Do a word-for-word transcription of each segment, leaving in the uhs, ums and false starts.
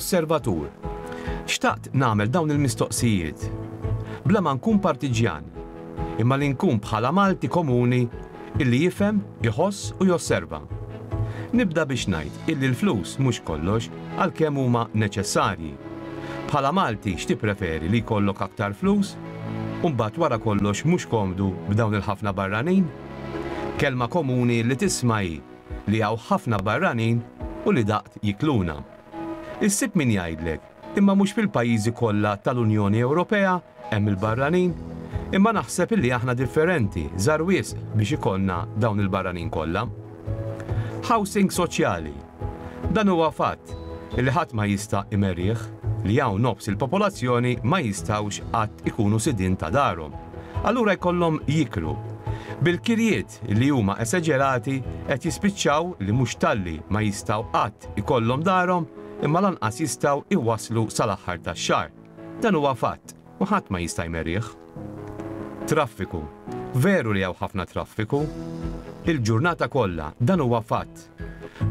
Osservatur. Xtaqt nagħmel dawn il-mistoqsijiet. Bla ma nkun partiġjan, imma li nkun bħala Malti komuni illi jifhem, iħoss u josserva. Nibda biex ngħid illi l-flus mhux kollox għalkemm huma neċessarji. Bħala Malti x'tippreferi, li jkollok aktar flus? U mbagħad wara kollox mhux komdu b'dawn il-ħafna barranin? Kelma komuni li tisma' hi li hawn ħafna barranin u li daqt jikluna. Issib min jgħidlek, imma mhux fil-pajjiżi kollha tal-Unjoni Ewropea hemm il-barranin, imma naħseb illi aħna differenti, żgħar wisq biex ikollna dawn il-barranin kollha. Housing soċjali. Dan huwa fatt illi ħadd ma jista' imerih li hawn nofs il-popolazzjoni ma jistgħux qatt ikunu sidin ta' darhom. Allura jkollhom jikru. Bil-kirjiet li huma esaġerati qed jispiċċaw li mhux talli ma jistgħu qatt ikollhom darhom, imma lanqas jistgħu iwaslu sal-aħħar tax-xahar. Dan huwa fatt u ħadd ma jista' jmerih. Traffiku. Veru li hawn ħafna traffiku. Il-ġurnata kollha, dan huwa fatt.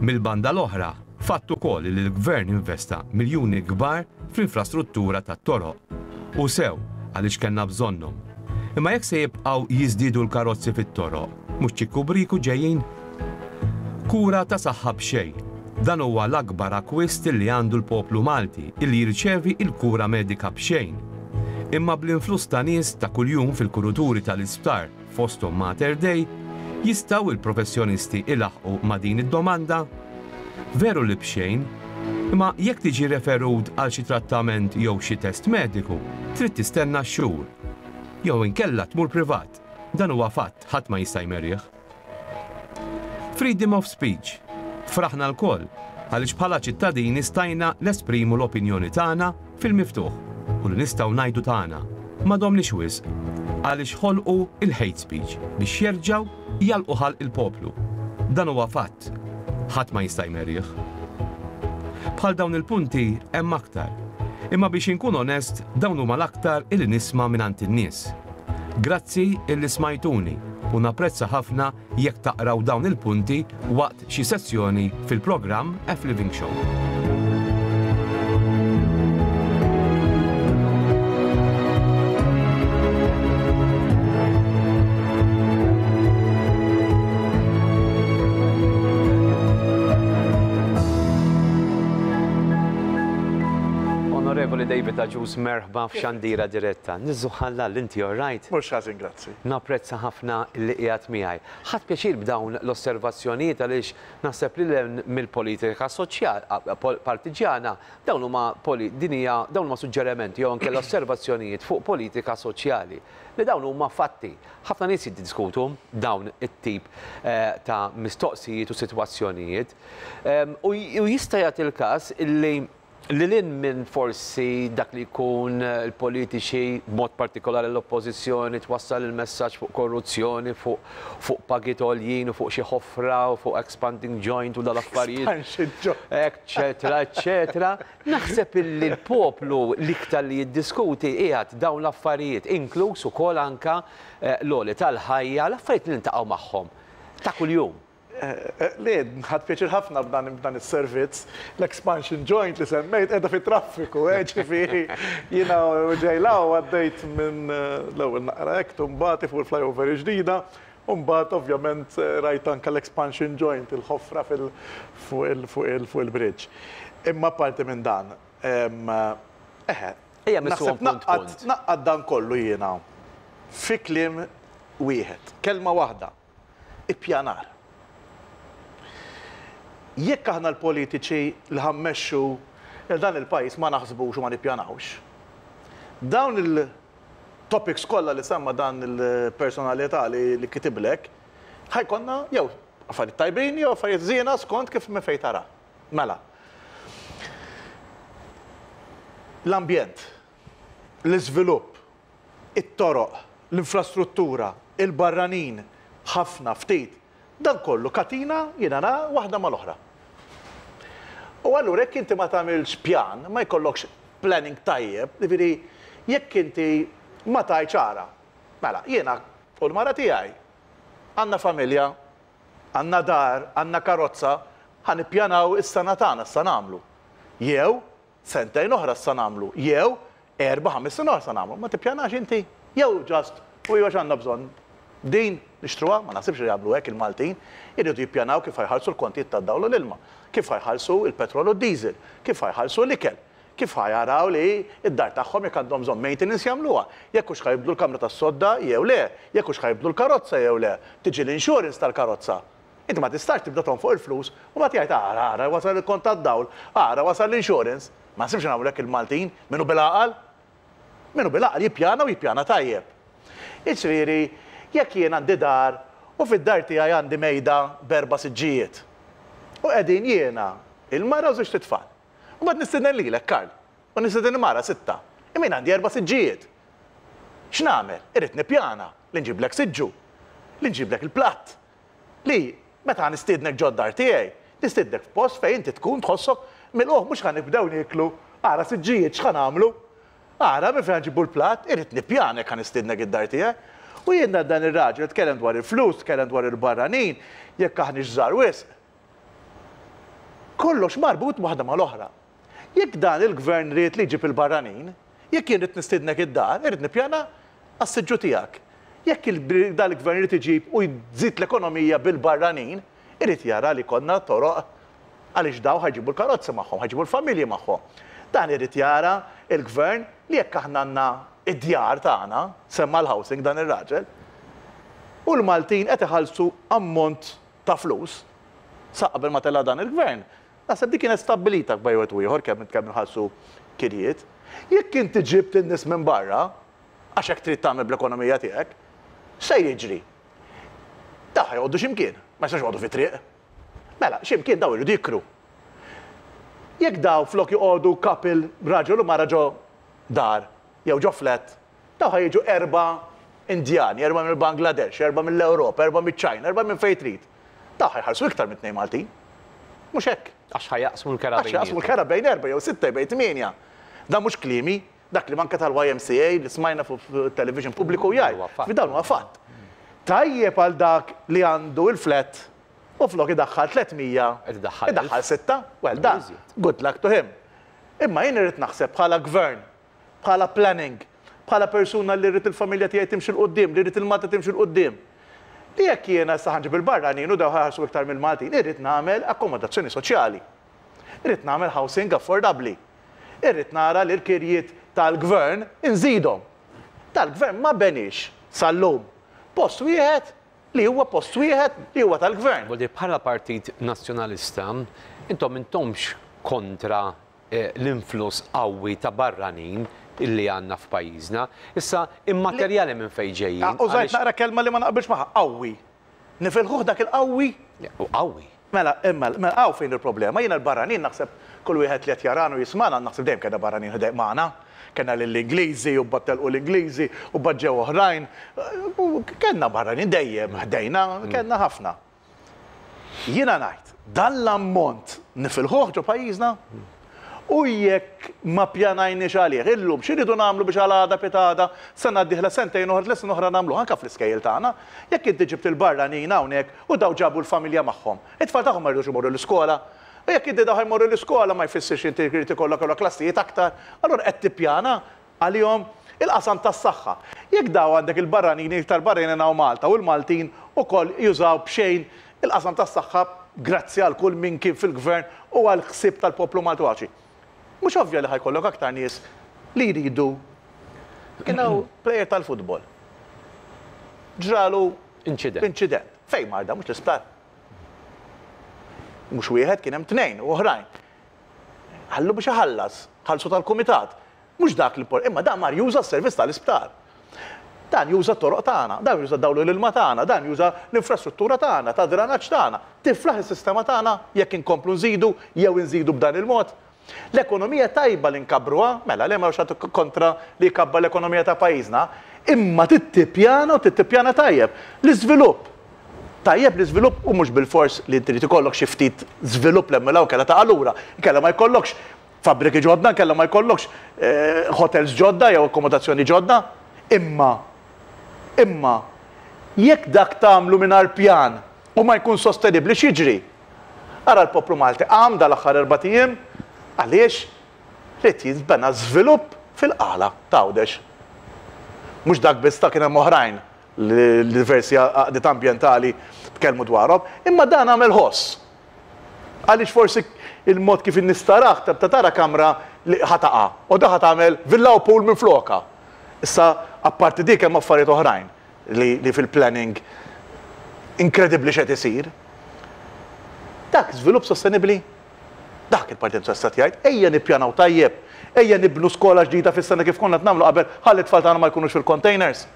Mill-banda l-oħra, fatt ukoll li l-gvern investa miljuni kbar fl-infrastruttura tat-toroq. U sew għaliex kellna bżonnhom. Imma jekk se jibqgħu jiżdiedu l-karozzi fit-toroq, mhux ċikku briku ġejjin? Kura ta' saħħa b'xejn. Dan huwa l-akbar akwist li għandu l-poplu Malti illi jirċevi il-kura medika b'xejn. Imma bl-influss ta' nies ta' kuljum fil-kuruturi tal-isptar fosthom Mater Dei, jistgħu il-professjonisti ilaħqu ma' din id-domanda? Veru li b'xejn, imma jekk tiġi referut għal xi trattament jew xi test mediku, trid tistenna xhur. Jew inkella tmur privat. Dan huwa fatt, ħadd ma jista' jmerih. Freedom of speech. Fraħna lkoll għaliex bħala ċittadini stajna nesprimu l-opinjoni tagħna fil-miftuħ u li nistgħu ngħidu tagħna. Ma domniex wisq għaliex ħolqu il-hate speech biex jerġgħu jagħlqu ħalq il-poplu. Dan huwa fatt, ħadd ma jista' jmerih. Bħal dawn il-punti hemm aktar. Imma biex inkun onest, dawn huma l-aktar illi nisma' mingħand in-nies. Grazzi illi smajtuni u napprezza ħafna jekk taqraw dawn il-punti waqt xi sessjoni fil-programm F Living Show. Onorevoli David Agius, merħba f'Xandira Diretta. Niżżuħalla l-inti all right? Mhux ħażin, grazzi. Napprezza ħafna li qiegħed miegħi. Ħadt pjaċir b'dawn l-osservazzjonijiet għaliex naħseb li l mill-politika soċjali partiġjana dawn huma din hija dawn huma suġġerimenti jew anke l-osservazzjonijiet fuq politika soċjali li dawn huma fatti. Ħafna nies jiddiskutu dawn it-tip ta' mistoqsijiet u sitwazzjonijiet. U jista' jagħti l-każ illi li lin minn forsi dak li jkun il-politiċi, b'mod partikolari l-oppożizzjoni, twassal il-messaġġ fuq korruzzjoni, fuq fuq pagi għoljin u fuq xi ħofra u fuq expanding joint u dal-affarijiet. Expansion joint. Eccetera, eccetera. Naħseb illi l-poplu l-iktar li jiddiskuti qiegħed dawn l-affarijiet, inkluż ukoll anka l-għoli tal-ħajja, l-affarijiet li niltaqgħu magħhom ta' kuljum. Le, ħadt pjaċir ħafna b'dan is-servizz. L-expansion joint li semmejt qiegħda fit-traffiku, ġifieri jiena ġejlaw għaddejt minn l-ewwel naqra hekk mbagħad fuq il-flyover ġdida, u mbagħad ovvjament rajt anke l-expansion joint, il-ħofra fuq il-bridge. Imma parti minn dan, eħe, naħseb naqqad dan kollu jiena fi kliem wieħed, kelma waħda, ippjanar. Jekk aħna l-politiċi li ħammexxu dan il-pajjiż ma naħsbux u ma nippjanawx, dawn il-topics kollha li semma dan il-personalità li kitiblek, ħajkonna jew affarijiet tajbin jew affarijiet żiena skont kif minn fejn tara. Mela. L-ambjent, l-iżvilupp, it-toroq, l-infrastruttura, il-barranin, ħafna ftit, dan kollu katina jiena nara waħda mal-oħra. U allura jekk inti ma tagħmilx pjan, ma jkollokx planning tajjeb, jiġifieri jekk inti ma tgħidx ara, mela jiena u l-mara tiegħi għandna familja, għandna dar, għandna karozza, ħa nippjanaw is-sena tagħna, issa nagħmlu. Jew Sentejn oħra sa nagħmlu, jew erba' ħames snin oħra sa nagħmlu. Ma tippjanax inti, jew just u jew għandna bżonn din nixtruha, ma naħsibx li jagħmlu hekk il-Maltin, iridu jippjanaw kif ħa jħallsu l-kontijiet tad-dawl u l-ilma, kif ħa jħallsu il-petrol u d-diesel, kif ħa jħallsu l-ikel, kif ħa jaraw li id-dar tagħhom jekk għandhom bżonn maintenance jagħmluha, jekk hux ħa jibdlu l-kamra tas-sodda jew le, jekk hux ħa jibdlu l-karozza jew le, tiġi l-insurance tal-karozza. Inti ma tistax tibda fuq il-flus u ma tgħid ara ara wasal il-kont tad-dawl, ara wasal l-insurance. Ma nsibx nagħmlu hekk il-Maltin, minnu bil-għaqal? Minnu bil-għaqal jippjana u jippjana tajjeb. Iġifieri, jekk jien għandi dar u fid-dar tiegħi għandi mejda b'erba' siġġijiet. U qegħdin jiena il-mara u żewġ tfal. U mbagħad nistieden lilek, Karl, u nistieden il-mara sitta. Imma jien għandi erba' siġġijiet. X'nagħmel? Irrid nippjana li nġiblek siġġu, li nġiblek il-platt. Li meta nistiednek ġod-dar tiegħi, nistiednek f'post fejn inti tkun tħossok mill-oħ mhux ħa nibdew nieklu, ara siġġijiet x'ħa nagħmlu. Ara minn fejn nġibu l-platt, irrid nippjana jekk ħa nistiednek id-dar tiegħi. U jiena dan ir-raġel tkellem dwar il-flus, tkellem dwar il-barranin, jekk aħniex żgħar wisq. Kollox marbut waħda mal-oħra. Jekk dan il-gvern ried li jġib il-barranin, jekk jien rrid nistiednek id-dar, irrid nippjana għas-siġġu tiegħek. Jekk dan il-gvern irid iġib u jżid l-ekonomija bil-barranin, irid jara li konna toroq għaliex daw ħa jġibu l-karozzi magħhom, ħa jġibu l-familji magħhom. Dan irid jara il-gvern li jekk aħna għandna id-djar tagħna, semma l-housing dan ir-raġel, u l-Maltin qed iħallsu ammont ta' flus sa qabel ma tella dan il-gvern. Naħseb dik kienet stabbilita bejn wieħed u ieħor kemm kemm inħallsu kirjiet. Jekk inti ġibt in-nies minn barra, għax hekk trid tagħmel bl-ekonomija tiegħek, se jiġri? Daw ħa joqogħdu x'imkien, ma jistax joqogħdu fi triq. Mela, x'imkien daw iridu jikru. Jekk daw flok joqogħdu couple raġel u mara ġo dar, jew ġo flat, daw ħa jiġu erba' Indjani, erba' mill-Bangladesh, erba' mill-Ewropa, erba' mill-Ċina, erba' minn fejn trid. Daw ħa jħallsu iktar minn tnejn Maltin. Mhux hekk. Għax ħa jaqsmu l-kera. Għax jaqsmu l-kera bejn erba' jew sitta bejn tmienja. Dan mhux kliemi, dak li manka tal-Y M C A li smajna fuq television pubbliku jgħid. Fi dawn huwa fatt. Tajjeb għal dak li għandu il-flat u flok idaħħal tliet mija, idaħħal sitta, well dan, good luck to him. Imma jien irrid naħseb bħala gvern, bħala planning, bħala persuna li rrid il-familja tiegħi timxi 'l quddiem, li rrid il-Malta timxi 'l quddiem. Li jekk jiena issa ħa nġib il-barranin u daw ħa jħallsu iktar mill-Maltin, irrid nagħmel akkomodazzjoni soċjali. Irrid nagħmel housing affordabbli. Irrid nara li l-kirjiet tal-gvern inżidhom. Tal-gvern ma benix sal-lum post wieħed li huwa post wieħed li huwa tal-gvern. Boldi, bħala Partit Nazzjonalista, intom intomx kontra eh, l-influss qawwi ta' barranin illi għandna f'pajjiżna. Issa, immaterjali minn fejn ġejjin. Ah, użajt naqra kelma li ma naqbilx magħha, qawwi. Nifilħuh dak il-qawwi? Qawwi. Mela, imma, mela, hawn fejn il-problema. Jiena l-barranin naħseb kull wieħed li qed jarana u jismana, naħseb dejjem kellna barranin ħdejn magħna. Kellna lill-Ingliżi u battelqu l-Ingliżi u ġew oħrajn. Kellna barranin dejjem ħdejna, kellna ħafna. Jiena ngħid, dan l-ammont nifilħuh ġo pajjiżna? U jekk ma pjanajniex għalih, illum x'iridu nagħmlu biex għal għada pitgħada, sena d-dieħla, sentejn oħra, tliet snin oħra nagħmlu anke fl-iskejjel tagħna. Jekk inti ġibt il-barranin hawnhekk u daw ġabu l-familja magħhom, it-tfal tagħhom ma jridux imorru l-iskola. U jekk inti daw ħa jmorru l-iskola ma jfissirx inti jrid ikollok kollha klassijiet aktar, allura qed tippjana għalihom il-qasam tas-saħħa. Jekk daw għandek il-barranin, iktar barranin hawn Malta u l-Maltin ukoll jużaw b'xejn il-qasam tas-saħħa grazzi għal kull min kien fil-gvern u għal ħsieb tal-poplu Malti Għawdxi. Mhux ovvja li ħa jkollok aktar nies li jridu? Kien hawn player tal-futbol. Ġralu incident. Incident. Fejn mar da? Mhux l-isptar? Mhux wieħed, kien hemm tnejn u oħrajn. Ħallu biex iħallas, ħallsu tal-kumitat. Mhux dak li imma dan mar juża s-servizz tal-isptar. Dan juża t-toroq tagħna, dan juża dawlu l-ilma tagħna, dan juża l-infrastruttura tagħna, ta' dranaġġ tagħna. Tiflaħ is-sistema tagħna jekk inkomplu nżidu jew inżidu b'dan il-mod? L-ekonomija tajba li nkabbruha, mela le ma kontra li jkabba l-ekonomija ta' pajjiżna, imma tittipjana u tittipjana tajjeb. L-iżvilupp. Tajjeb l-iżvilupp u mhux bil-fors li trid ikollok xi ftit żvilupp l kella ta' allura, kella ma jkollokx fabbriki ġodda, kella ma jkollokx eh, hotels ġodda jew akkomodazzjoni ġodda, imma imma jekk dak tagħmlu mingħajr pjan u ma jkun sostenibbli, x'jiġri? Ara l-poplu Malti qam dal-aħħar erbat ijiem għaliex li jinbena żvilupp fil-Qala ta' Għawdex. Mhux dak biss, ta' kien hemm oħrajn li diversi għaqdiet ambjentali tkellmu dwarhom, imma dan għamel ħoss. Għaliex forsi il-mod kif in-nies tarah, ta' tara kamra li ħa taqa' u da ħa tagħmel villa u pool minn floka. Issa, apparti dik, hemm affarijiet oħrajn li, li fil-planning inkredibbli x'qed isir. Dak żvilupp sostenibbli? Dak il-Partit Nazzjonalista jgħid, ejja nippjanaw tajjeb, ejja nibnu skola ġdida fis-sena kif konna nagħmlu qabel, ħalli t-tfal tagħna ma jkunux fil-containers.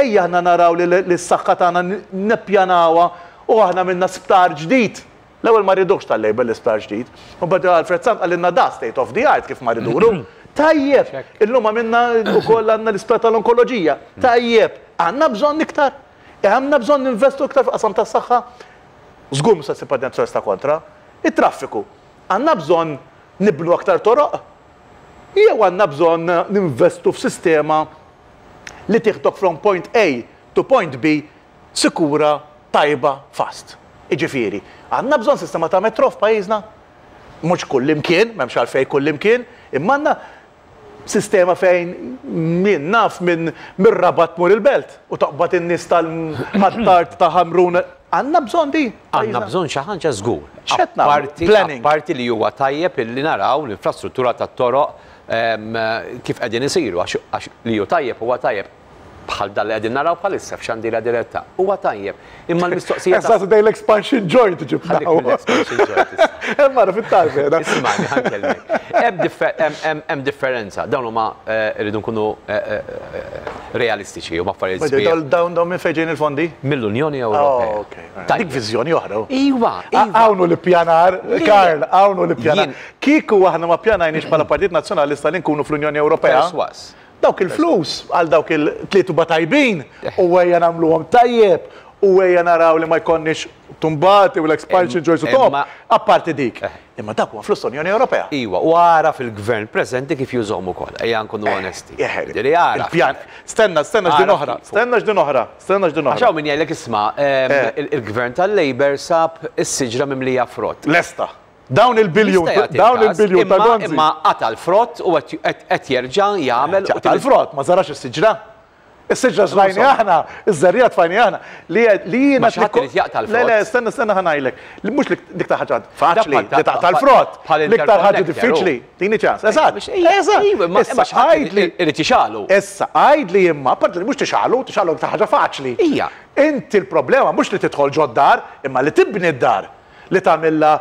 Ejja aħna naraw li l-saħħa tagħna nippjanawha u aħna minna sptar ġdid. L-ewwel ma ridux tal-Labour l-isptar ġdid. U bada Alfred Sant qalilna da state of the art kif ma riduru. Tajjeb, illum għamilna ukoll għandna l-isptar tal-onkoloġija. Tajjeb, għandna bżonn iktar. Għandna bżonn ninvestu iktar f'qasam tas-saħħa. Żgur mhux se Partit Nazzjonalista kontra. Il-traffiku. Għandna bżonn nibnu aktar toroq. Jew għandna bżonn ninvestu f'sistema li tieħdok from point A to point B sikura, tajba, fast. Iġifieri, għandna bżonn sistema ta' metro f'pajjiżna? Mhux kullimkien, m'hemmx għalfejn kullimkien, imma għandna sistema fejn min naf minn mir-Rabat mur il-Belt u taqbad in-nies tal-Ħ'Attard, ta' Ħamrun. Għandna bżonn di. Għandna bżonn xi ħaġa żgur. X'qed nagħmlu? Apparti Planning. Apparti li huwa tajjeb illi naraw l-infrastruttura tat-toroq em, kif qegħdin isiru, għax għax li hu tajjeb huwa tajjeb, bħal dan li qegħdin naraw bħalissa f'xandira diretta. Huwa tajjeb. Imma l-mistoqsija ta' Eżatt, dej l-expansion joint ġibna. Ħallik mill-expansion joint issa. Hemm mara fit-tarf qiegħda. Ismani, ħa nkellmek. Hemm differ- hemm- hemm- hemm differenza. Dawn huma eh, rridu nkunu eh, eh, realistiċi u affarijiet sbieħ. Dawn dawn minn fejn ġejjin il-fondi? Mill-Unjoni Ewropea. Oh, ok. Tajjeb. Dik viżjoni oħra. Iwa, iwa. Hawnhu l-ippjanar, Karl, hawnhu l-ippjanar. Jien- Kieku aħna ma ppjanajniex bħala Partit Nazzjonalista li nkunu fl-Unjoni Ewropea. Perswas. Dawk il-flus għal dawk il-tliet tuba tajbin u ejja nagħmluhom tajjeb u ejja naraw li ma jkollniex tumbati u l-expansion joints u top. Imma- Apparti dik. Imma dak huwa flus l-Unjoni Ewropea. Iwa, u ara fil-gvern preżenti kif jużhom ukoll. Ejja nkunu onesti. Ġieli ara. Il-pjan. Stenna, stenna x'din Ara oħra. kif. Stenna x'din oħra. Stenna x'din Għax oħra. hawn min jgħidlek, isma', em, Eh. il- il-gvern tal-Labour sab is-siġra mimlija frott. Lesta. Dawn il-biljun, Jista' jagħti dawn il-każ, il-biljun ta' imma- Gonzi. Imma qata l-frott u qed- qed qed jerġa' jagħmel u Tal-frott, ma żarax is-siġra. Is-siġra żrajni aħna, iż-żerriegħa tfajni aħna. Li li jiena Ma xi ħadd irid jaqta' l-frott. Le, le, stenna, stenna, ħa ngħidlek. Li mhux li l-iktar ħaġa faċli, Dak li taqta' l-frott. bħal L-iktar ħaġa interconnector, diffiċli. Tini ċans. Eżatt. Biex- ija, Eżatt. iva, ma- Issa imma xi ħadd għajdli. irid jixgħelu. Issa għajdli imma, apparti li mhux tixgħelu, tixgħelu iktar ħaġa faċli. Ija. Inti l-problema mhux li tidħol ġod-dar, imma li tibni d-dar. Li tagħmilha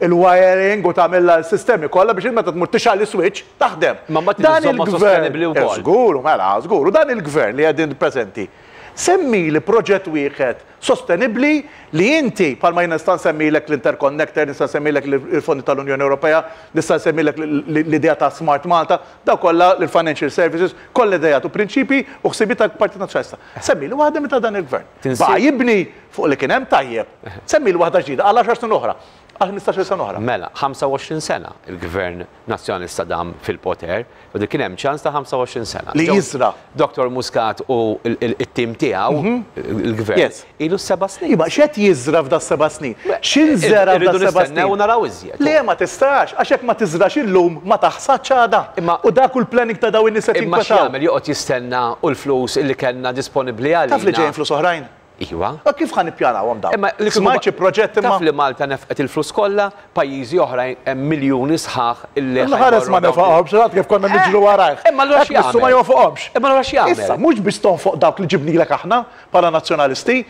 il-wiring u tagħmilha l-sistemi kollha biex meta tmur tixgħel switch taħdem. Ma mbagħad Dan iżżommha il-gvern- sostenibbli wkoll. Eh, Żgur, mela, żgur. U dan il-gvern li qegħdin preżenti. Semmi li proġett wieħed sostenibbli li inti, palma jien nista' nsemmilek l-interconnector, nista' nsemmilek il-fondi tal-Unjoni Ewropea, nista' nsemmilek l-idea ta' Smart Malta, daw kollha l-financial services, kollha idejat u prinċipi u ħsibiet tal-Partit Nazzjonalista. Semmi li waħda minn ta' dan il-gvern. Tinsi- Ba' jibni fuq li kien hemm tajjeb. Semmi li waħda ġdida għal għaxar snin oħra, għal ħmistax-il sena oħra. Mela, ħamsa u għoxrin sena il-gvern nazzjonalista dam fil-poter, u dik kien hemm ċans ta' ħamsa u għoxrin sena. Li Ġew- jiżra. Doktor Muscat u il-tim tiegħu, il-gvern, Yes. ilu seba' snin. Iba, x'qed jiżra f'da seba' snin? X'inżera f'da Irridu seba' nistennew snin? u naraw iżjed. Le, ma tistax, għax hekk ma tiżrax illum ma taħsadx għada. Imma- U dak u l-planning ta' daw in-nies qed Imma jinkwetaw. x'jagħmel, joqgħod jistenna u l-flus illi kellna disponibbli għalina? Taf li ġejjin flus oħrajn? Iwa. U kif ħa nippjanawhom dawn? Imma li kieku Smajt xi proġett imma. Taf li Malta nefqet il-flus kollha, pajjiżi oħrajn hemm miljuni sħaħ illi L-ħares ma ħa jmorru dawn nefaqhomx, għad kif konna niġru warajh. Imma allura Hekk missu ma x'jagħmel? jonfoqhomx. Imma allura x'jagħmel? Issa, mhux biex tonfoq dawk li ġibnilek aħna bħala nazzjonalisti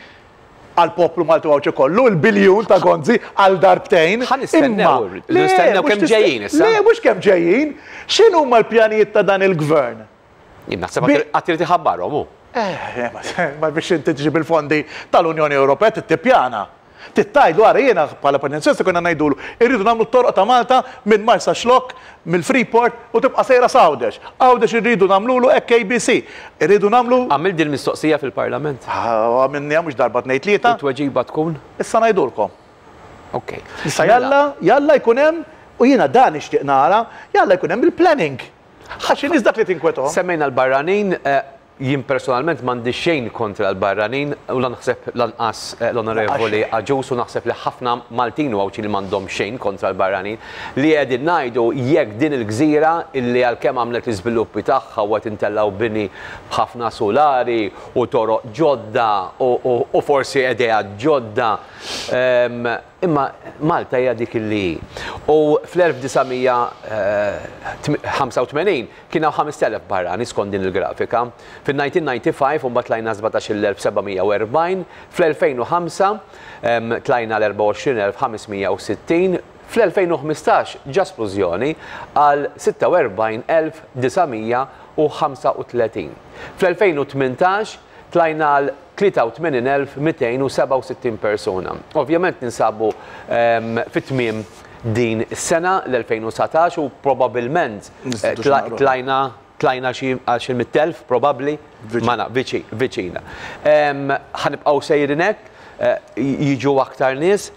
għal poplu Malti Għawdxi kollu, il-biljun ta' Gonzi għal darbtejn. Ħa nistennew, Imma- Le, nistennew mhux kemm tiste- ġejjin issa. Le, mhux kemm ġejjin. X'inhu huma l-pjanijiet ta' dan il-gvern? Jien naħseb Bi- għad irid iħabbarhom hu. Eh, ma- ma biex inti tġib il-fondi tal-Unjoni Ewropea tippjana. Tittajdu għara, jiena bħala Partit konna ngħidulu, irridu nagħmlu t-torq ta' Malta minn Marsaxlokk, mill-Freeport u tibqa' sejra s'Għawdex. Għawdex irridu nagħmlulu hekk A B C. Irridu nagħmlu Għamil din mistoqsija fil-Parlament. Ah, minni mhux darba, tnejn, tlieta, U tweġiba tkun? Issa ngħidulkom. Ok. Issa jalla, jalla jkun hemm, u jiena dan nixtieq nara, jalla jkun hemm il-planning. Għax in-nies dak li tinkwetahom. Semmejna l-barranin, eh, Jien personalment m'għandi xejn kontra l-barranin u naħseb lanqas l-Onorevoli Agius, u naħseb li ħafna Maltin u Għawdxin li m'għandhom xejn kontra l-barranin. Li qegħdin ngħidu, jekk din il-gżira illi għalkemm għamlet l-iżviluppi tagħha u qed intellaw bini b'ħafna solari u toroq ġodda u forsi idea ġodda, imma Malta hija dik illi hi. U fl-elf disa' mija ħamsa u tmenin kien hawn ħamest elef barrani skont din il-grafika. Fin-nineteen ninety-five u mbagħad tlajna sbatax-il elf seba' mija u erbgħin, fl-elfejn u ħamsa tlajna l-erbgħa u għoxrin elf ħames mija u sittin, fl-elfejn u ħmistax ġa splużjoni għal sitta u erbgħin elf disa' mija u ħamsa u tletin. Fl-elfejn u tmintax tlajna għal tlieta u tmenin elf mitejn u seba' u sittin persuna. Ovvjament ninsabu fit-tmiem din is-sena l-elfejn u satax u probabilment tlajna tlajna xi għal xi mitt elf probabbli, ma naf, viċina. Ħanibqgħu sejrin hekk, jiġu aktar nies,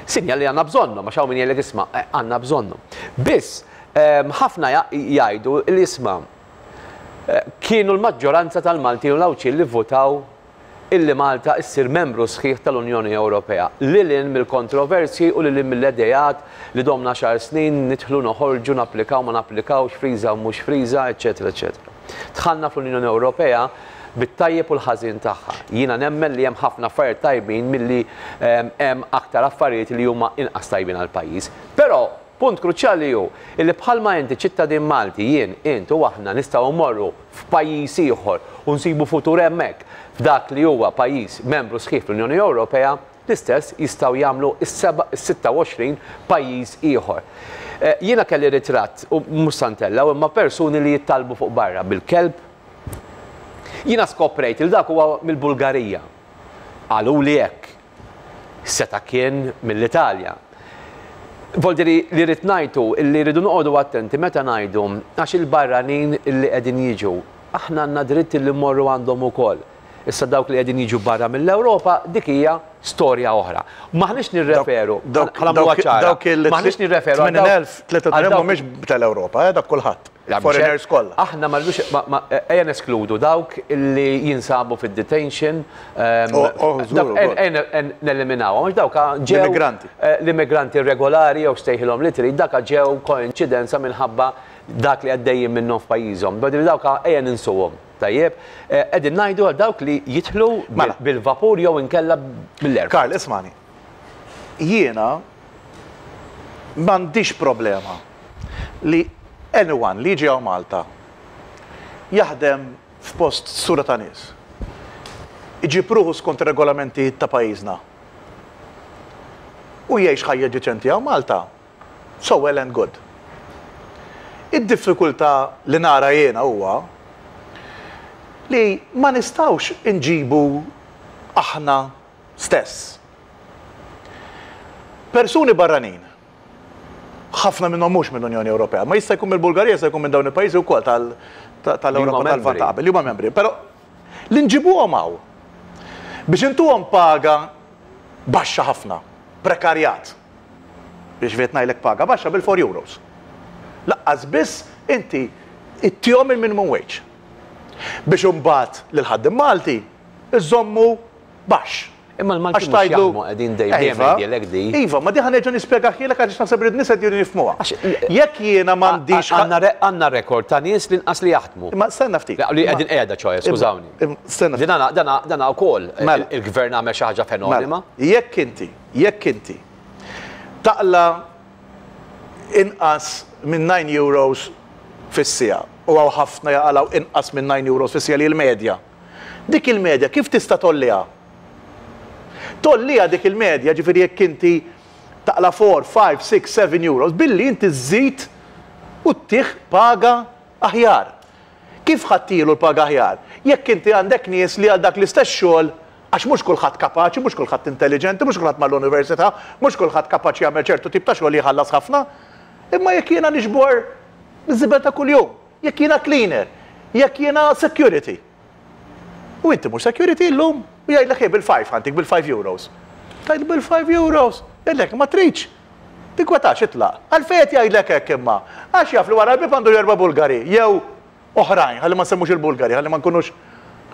sinjal li għandna bżonnhom, għax hawn min jgħidlek isma', għandna bżonnhom. Biss ħafna jgħidu li isma' kienu l-maġġoranza tal-Maltin u l-Għawdxin li votaw illi Malta issir membru sħiħ tal-Unjoni Ewropea. Lil hinn mill-kontroversji u lil hinn mill-idejat li domna xar snin nidħlu noħorġu, napplikaw ma napplikawx, friża u mhux friża, eċċetera, eċċetera. Dħalna fl-Unjoni Ewropea bit-tajjeb u l-ħażin tagħha. Jiena nemmen li hemm ħafna affarijiet tajbin milli hemm aktar affarijiet li huma inqas tajbin għall-pajjiż. Però punt kruċjali hu illi bħalma inti ċittadin Malti, jien, int u aħna nistgħu mmorru f'pajjiż ieħor u nsibu futur hemmhekk f'dak li huwa pajjiż membru sħiħ fl-Unjoni Ewropea, l-istess jistgħu jagħmlu is-sitta u għoxrin pajjiż ieħor. Jiena kelli ritratt u mhux santella, imma persuni li jittalbu fuq barra bil-kelb. Jiena skoprejt il dak huwa mill-Bulgarija. Qaluli hekk. Seta kien mill-Italja. Voldiri li rrid ngħidu li rridu noqogħdu attenti meta ngħidu għax il-barranin li qegħdin jiġu. Aħna għandna dritt li mmorru għandhom ukoll. Issa dawk li qegħdin jiġu barra mill-Ewropa dik hija storja oħra. Maħniex nirreferu, Dawk- ħa nagħmluha dawk- ċara. dawk il- Maħniex nirreferu għal tmenin dawk- elf, tlieta għal dawk mhumiex tal-Ewropa, eh, dak kulħadd. La, Foreigners mhux kollha. Aħna ma rridux, ma, ma, ejja neskludu dawk li jinsabu fid-detention, ehm, Oh, oh, żgur, dawk, ukoll. en, en, en, neliminawhom, għax dawk ġew, L-immigranti. eh, l-immigranti regolari jew stejħilhom li trid, dak ġew koinċidenza minħabba dak li għaddejjin minnhom f'pajjiżhom. Badri dawk ejja ninsuhom. Tajjeb, eh, qegħdin ngħidu għal dawk li jidħlu bil- Mela. bil-vapur jew inkella bil-erb. Karl, ismani. Jiena m'għandix problema li anyone li jiġi hawn Malta jaħdem f'post sura ta' nies. Iġib ruħu skont ir-regolamenti ta' pajjiżna. U jgħix ħajja ġiċenti hawn Malta. So well and good. Id-diffikultà li nara jiena huwa li ma nistawx inġibu aħna stess. Persuni barranin, ħafna minnhom mhux mill-Unjoni Ewropea, ma jista' jkun mill-Bulgarija, jista' jkun minn dawn il-pajjiżi wkoll tal-, ta-, tal-Ewropa Li huma tal-Lvant membri. ta' qabel, li huma membri, però li nġibuhom hawn biex intuhom paga baxxa ħafna, prekarjat. Biex qed ngħidlek paga baxxa bil-four euros. Laqqas biss inti ittihom il-minimum wage. Biex imbagħad lil ħaddiem Malti iżommu baxx. Imma l-Malti Għax mhux tgħidlu jaħdmu qegħdin dejjem Iva, jgħidilek di. Iva, ma di ħa nerġa' nispjegahielek għax naħseb li n-nies qed jridu jifhmuha. Għax l- Jekk jiena m'għandix Għandna re-, għandna rekord ta' nies li nqas li jaħdmu. Imma stenna ftit. La, li qegħdin qiegħda ċoħe, skużawni. Imma stenna ftit. Dana, dana, dana wkoll Mela. il-gvern għamel xi ħaġa fenomena. Mela, jekk inti, jekk inti taqla inqas minn nine euros fis-siegħa u hawn ħafna jaqalgħu inqas minn nine euros fis-siegħa li l-medja. Dik il-medja kif tista' tolliha? Tolliha dik il-medja, ġifieri jekk inti taqla four, five, six, seven euros, billi inti żżid u ttih paga aħjar. Kif ħadtilu l-paga aħjar? Jekk inti għandek nies li għal dak l-istess xogħol, għax mhux kulħadd kapaċi, mhux kulħadd intelligenti, mhux kulħadd mal-università, mhux kulħadd kapaċi jagħmel ċertu tip ta' xogħol li jħallas ħafna, imma jekk jiena niġbor iż-żibel ta' kuljum, jekk jiena cleaner, jekk jiena security. U inti mhux security llum, u jgħidlek ej bil-five ħantik bil-five euros. Tgħid bil-five euros, jgħidlek ma tridx. Tinkwetax itlaq. Għalfejn qed jgħidlek hekk imma? Għax jaf li wara l-bib għandu erba' Bulgari, jew oħrajn, ħalli ma nsemmux il-Bulgari, ħalli ma nkunux.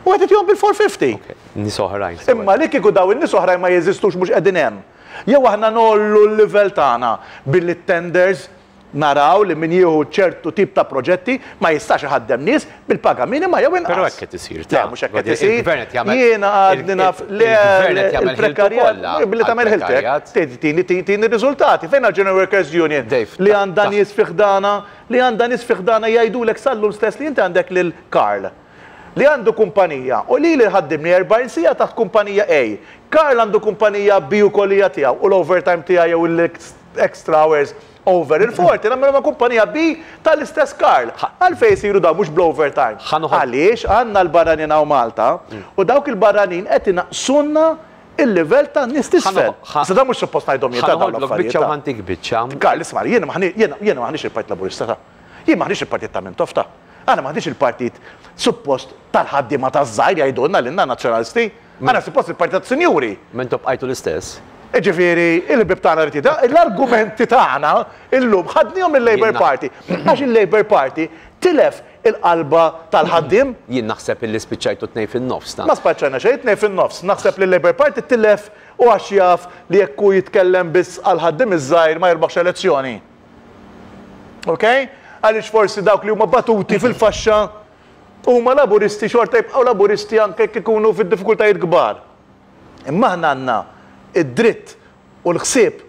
U qed itihom bil-four fifty. Nies oħrajn. Imma li kieku daw in-nies oħrajn ma jeżistux, mhux qegħdin hemm. Jew aħna ngħollu l-livell tagħna billi tenders naraw li min jieħu ċertu tip ta' proġetti ma jistax iħaddem nies bil-paga minima jew inqas. Però hekk qed isir. Le, mhux hekk qed isir. Il-gvern qed jagħmel. Jiena għadni naf le Il-gvern qed jagħmel ħiltu il-prekarjat kollha billi tagħmel ħiltek. għall-prekarjat. Tini tini riżultati. Fejn għal-General Workers Union Dave, li ta- għandha ta' nies fi ħdana, li għandha nies fi ħdana jgħidulek sallum stess li inti għandek lil Karl li għandu kumpanija u li li ħaddimni erbgħin siegħa taħt kumpanija A. Karl għandu kumpanija B u kolija tiegħu u l-overtime tiegħu jew l-extra hours over il-forty, nagħmlu ma' kumpanija B tal-istess Karl. Għalfejn jsiru daw mhux bl-overtime? Ħa noħod- Għaliex għandna l-barranin hawn Malta u dawk il-barranin qed inaqsunna il-livell ta' nies t'isfel. Ħa- Issa da mhux suppost ngħidhom jien ta' dawn Ħa noħodlok l-affarijiet. biċċa u ta' ħa ntik biċċa. Karl, isma', jiena maħni, jiena jiena maħniex il-Partit Laburista ta'. Jien maħniex il-Partit ta' Mintoff ta'. Aħna maħniex il-partit suppost tal-ħaddiema taż-żgħir jgħidulna lilna nazzjonalisti. Aħna suppost il-partit tas-sinjuri. M'intom bqajtu l-istess. Ġifieri, il-ħbieb tagħna rrid jida- l-argumenti tagħna illum ħadnihom il-Labour Jiena- Party. Għax il-Labour Party tilef il-qalba tal-ħaddiem. Jien naħseb illi spiċċajtu tnej fin-nofs ta' Ma spiċċajna xejn tnejn fin-nofs. Naħseb li l-Labour Party tilef u għax jaf li jekk hu jitkellem biss għal ħaddiem iż-żgħir ma jirbaħx elezzjoni. Ok? Għaliex forsi dawk li huma batuti fil-faxxa huma laburisti xorta jibqgħu laburisti anke jekk ikunu fid-diffikultajiet kbar. Imma aħna għandna id-dritt u l-ħsieb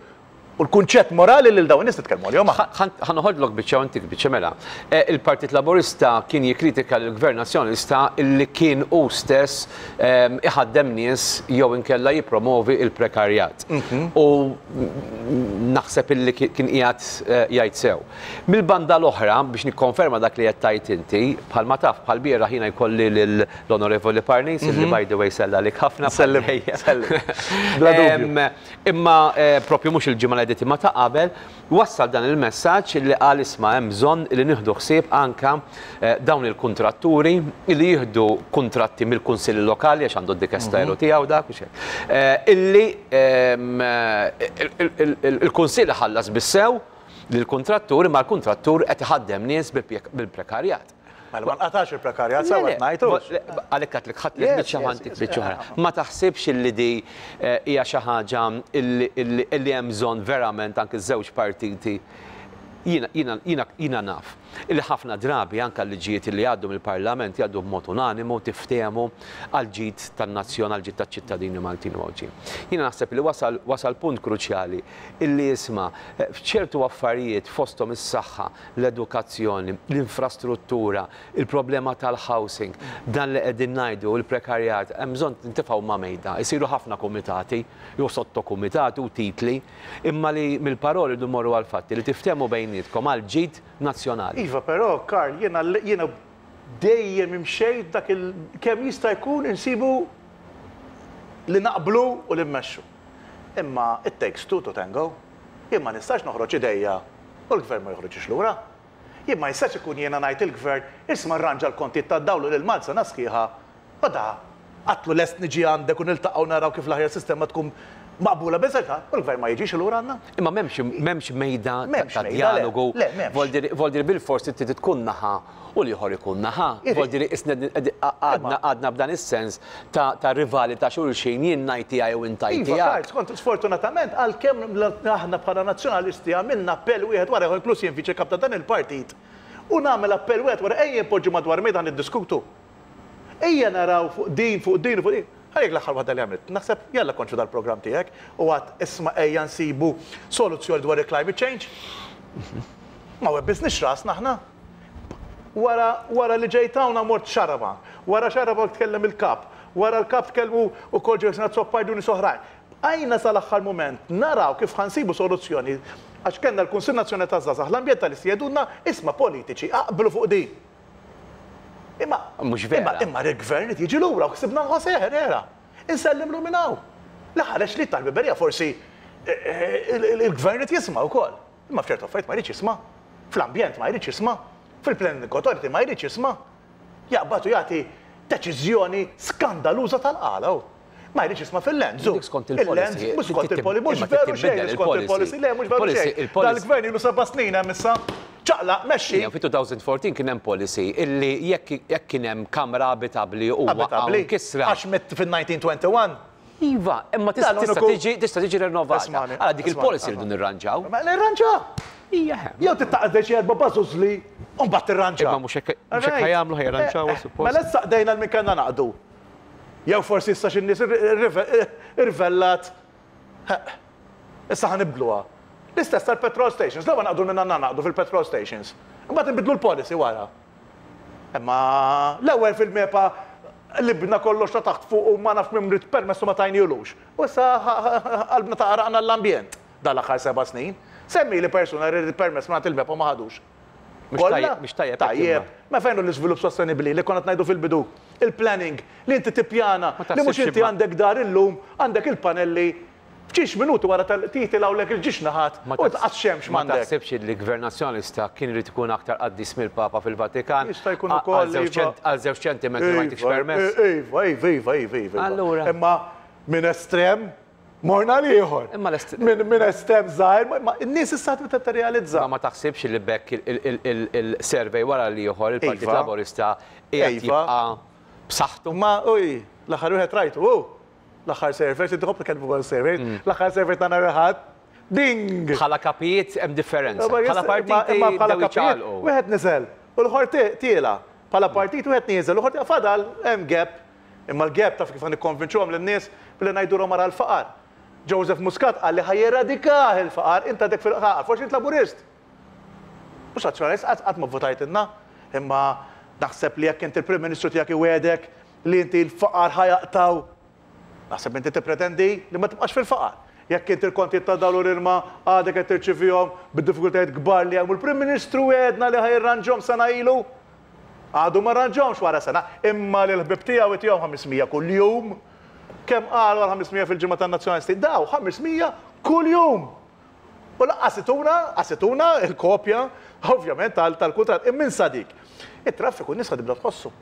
u l-kunċett morali lil dawn in-nies nitkellmu għalihom aħna. Ħa noħodlok biċċa u ntik biċċa mela. Eh, Il-Partit Laburista kien jikkritika l-Gvern Nazzjonalista illi kien hu stess ehm, iħaddem nies jew inkella jippromovi il-prekarjat. U mm, naħseb illi ki- kien qiegħed eh, jgħid sew. Mill-banda l-oħra, biex nikkonferma dak li qed tgħid inti, bħalma taf bħal bieraħ jiena jkolli l-Onorevoli Parnis, illi by the way sellem ħafna. Sellem, sellem. Bla dubju. Em, Imma eh, propju mhux il-ġimgħa li għaddiet imma ta' qabel, wassal dan il-messaġġ li qal, isma', hemm bżonn li nieħdu ħsieb anka eh, dawn il-kontratturi li jieħdu kontratti mill-kunsilli lokali għax għandu d-dikasteru tiegħu dak u xejn. Eh, Illi ehm, eh, il- il- il- il-kunsill ħallas bis-sew lill-kontrattur, imma l-kontrattur qed iħaddem nies bil-prekarjat. Mela ma nqatax il-prekarjat sewa Le, le, ngħidu. le, għalhekk għedtlek ħadtlek Yes, biċċa yes, ħa ntik yes, biċċa oħra. yes. Ma taħsibx illi di eh, hija xi ħaġa illi- illi illi hemm bżonn verament anke żewġ partiti? jiena jiena jiena jiena naf illi ħafna drabi anke l-liġijiet li jgħaddu mill-Parlament jgħaddu b'mod unanimu, tiftehmu għal ġid tan-nazzjon, għal ġid taċ-ċittadini Maltin u Għawdxin. Jiena naħseb li wasal wasal punt kruċjali illi isma', eh, f'ċertu affarijiet fosthom is-saħħa, l-edukazzjoni, l-infrastruttura, il-problema tal-housing, dan li qegħdin ngħidu, il-prekarjat, hemm bżonn tintifgħu ma' mejda, isiru ħafna komitati, jew sottokumitati u titli, imma li mill-paroli du morru għal-fatti li tiftehmu bejnietkom għal ġid nazzjonali. Iva, però, Karl, jiena jiena dejjem imxejt dak il kemm jista' jkun insibu li naqblu u li mmexxu. Imma it takes two to tango. Jien ma nistax noħroġ idejja u l-gvern ma joħroġx lura. Jien ma jistax ikun jiena ngħid il-gvern, isma', rranġa l-kontijiet tad-dawl lil Malta sena sħiħa u da għedtlu lest niġi għandek u niltaqgħu naraw kif l-aħjar sistema tkun maqbula biżejta u l-gvern ma jiġix lura għandna. Imma m'hemmx m'hemmx mejda ta' M'hemmx ta' mejda, le. dialogu. Le, m'hemmx. Voldiri voldiri bil-forsi trid tkun naħa u l-ieħor ikun naħa. Iri. Voldiri isna għadna għadna b'dan is-sens ta' ta' rivali ta' xulxin, jien ngħid tiegħi u int Iva, tiegħek. Karl, skont sfortunatament, għalkemm aħna bħala nazzjonalisti għamilna appell wieħed wara ieħor, inkluż jien viċi kap ta' dan il-partit, u nagħmel appell wieħed wara, ejja npoġġu madwar mejda niddiskutu. Ejja naraw fuq din, fuq din, fuq din. Għalhekk l-aħħar waħda li għamilt. Naħseb jalla konċu dal-programm tiegħek u għedt, isma', ejja nsibu soluzzjoni dwar il-climate change. Ma webbisniex rasna aħna. Wara, wara li ġejt hawn mort Xarabank, wara Xarabank tkellem il-kap, wara l-kap tkellmu u kol ġew Azzopardi u nies oħrajn. Għajna sal-aħħar moment naraw kif ħa nsibu soluzzjoni għax kellna l-Kunsill Nazzjonali taż-Żgħażagħ, l-ambjentalisti jgħidulna, isma', politiċi, aqblu fuq din. Imma Mhux vera. Imma imma il-gvern qed jiġi lura u ksibna José Herrera. Insellimlu minn hawn. Li ħareġ li tal-biberija forsi eh, eh, il- il-gvern qed jisma' wkoll. Imma f'ċertu affarijiet ma jridx jisma'. Fl-ambjent ma jridx jisma'. Fil-planning authority ma jridx jisma'. Jaqbatu jagħti deċiżjoni skandaluża tal-qala. Ma jridx jisma' fil-lands. Dik skont il-policy. Mhux skont il-policy, mhux Imma veru xejn titbiddel skont il-policy. Le, mhux veru il-policy. xejn. Il-policy. Dal-gvern ilu seba' snin hemm issa. Ċaqlaq, mexxi. Fi elfejn u erbatax kien hemm policy illi jekk kien hemm kamra abitabbli u Abitabbli. kisra. Għax mitt fil-elf disa' mija u wieħed u għoxrin. Iva, imma tista' tiġi tista' tiġi rinnovata. Għala dik il-policy rridu nirranġaw. Ma nirranġaw. Ija. Jew tittaqdex erba' bażużli u mbagħad tirranġa. Imma mhux hekk ħa jagħmlu, ħa jirranġaw suppost. Mela issa qdejna l-min kellna naqdu. Jew forsi issa xi nies irvellat. Issa ħa nibdluha. L-istess tal-petrol stations, l naqdu minna naqdu fil-petrol stations. Imbagħad nbidlu l-policy wara. Imma l-ewwel fil-MEPA li bna kollox ta' taħt fuq u ma nafx minn ried permessu ma tajnihulux. U issa qalbna taqraqna l-ambjent dal-aħħar seba' snin. Semmi li persuna rrid permess ma il-MEPA ma ħadux. Mhux tajjeb. Tajjeb. Ma fejnu l-iżvilupp sostenibli li konna ngħidu fil-bidu? Il-planning, li inti tippjana, li mhux inti għandek dar illum, għandek il-panelli f'ġiex minuti wara titilgħulek il-ġiex naħat u tqas xemx. Ma taħsibx li l-Gvern Nazzjonalista kien irid ikun aktar qaddis mill-Papa fil-Vatikan? Jista' jkun ukoll. Għal żewġ ċentimetri ma jtikx permess. Iva, iva, iva, iva, iva. Allura. Imma minn estrem morna l-ieħor. Imma Minn estrem żgħir, ma n-nies issa tibda tirrealizza. Ma taħsibx li bekk il-survey wara l-ieħor il-Partit Laburista qiegħed jibqa' b'saħħtu? Ma uj, l-aħħar wieħed rajtu, l-aħħar survey, inti tħobb tkellmu fuq survey, mm. l-aħħar survey ta' nhar il-Ħadd, ding! Bħala kapijiet hemm differenza. Bħala partiti imma bħala kapijiet, wieħed niżel, u l-ieħor tiela. Bħala partit wieħed nieżel, u l-ieħor fadal hemm gap. Imma l-gap taf kif nikkonvinċuhom lin-nies? Billi ngħidulhom wara l-faqar. Joseph Muscat qal li ħa jeradikah il-faqar, inta dek fil-faqar, forsi int Laburist. Mhux Nazzjonalist, qatt ma votajt inna, imma naħseb li jekk inti il-Prim Ministru tiegħek iwegħdek li inti l-faqar ħa jaqtgħu, naħseb inti tippretendi li ma tibqax fil-faqar. Jekk inti l-konti ta' dawl u l-ilma għadek qed tirċivihom bid-diffikultajiet kbar li hemm, il-Prim Ministru wegħedna li ħa jirranġahom sena ilu. Għadu ma rranġahomx wara sena, imma li l-ħbib tiegħu itihom ħames mija kuljum. Kemm qalu għal ħames mija fil-ġimgħa tan-Nazzjonalisti? Daw ħames mija kuljum. U lanqas tuna, lanqas tuna il-kopja, ovvjament, tal-kuntratt. Immin sadik. Il-traffiku n-nies tibda tħossu.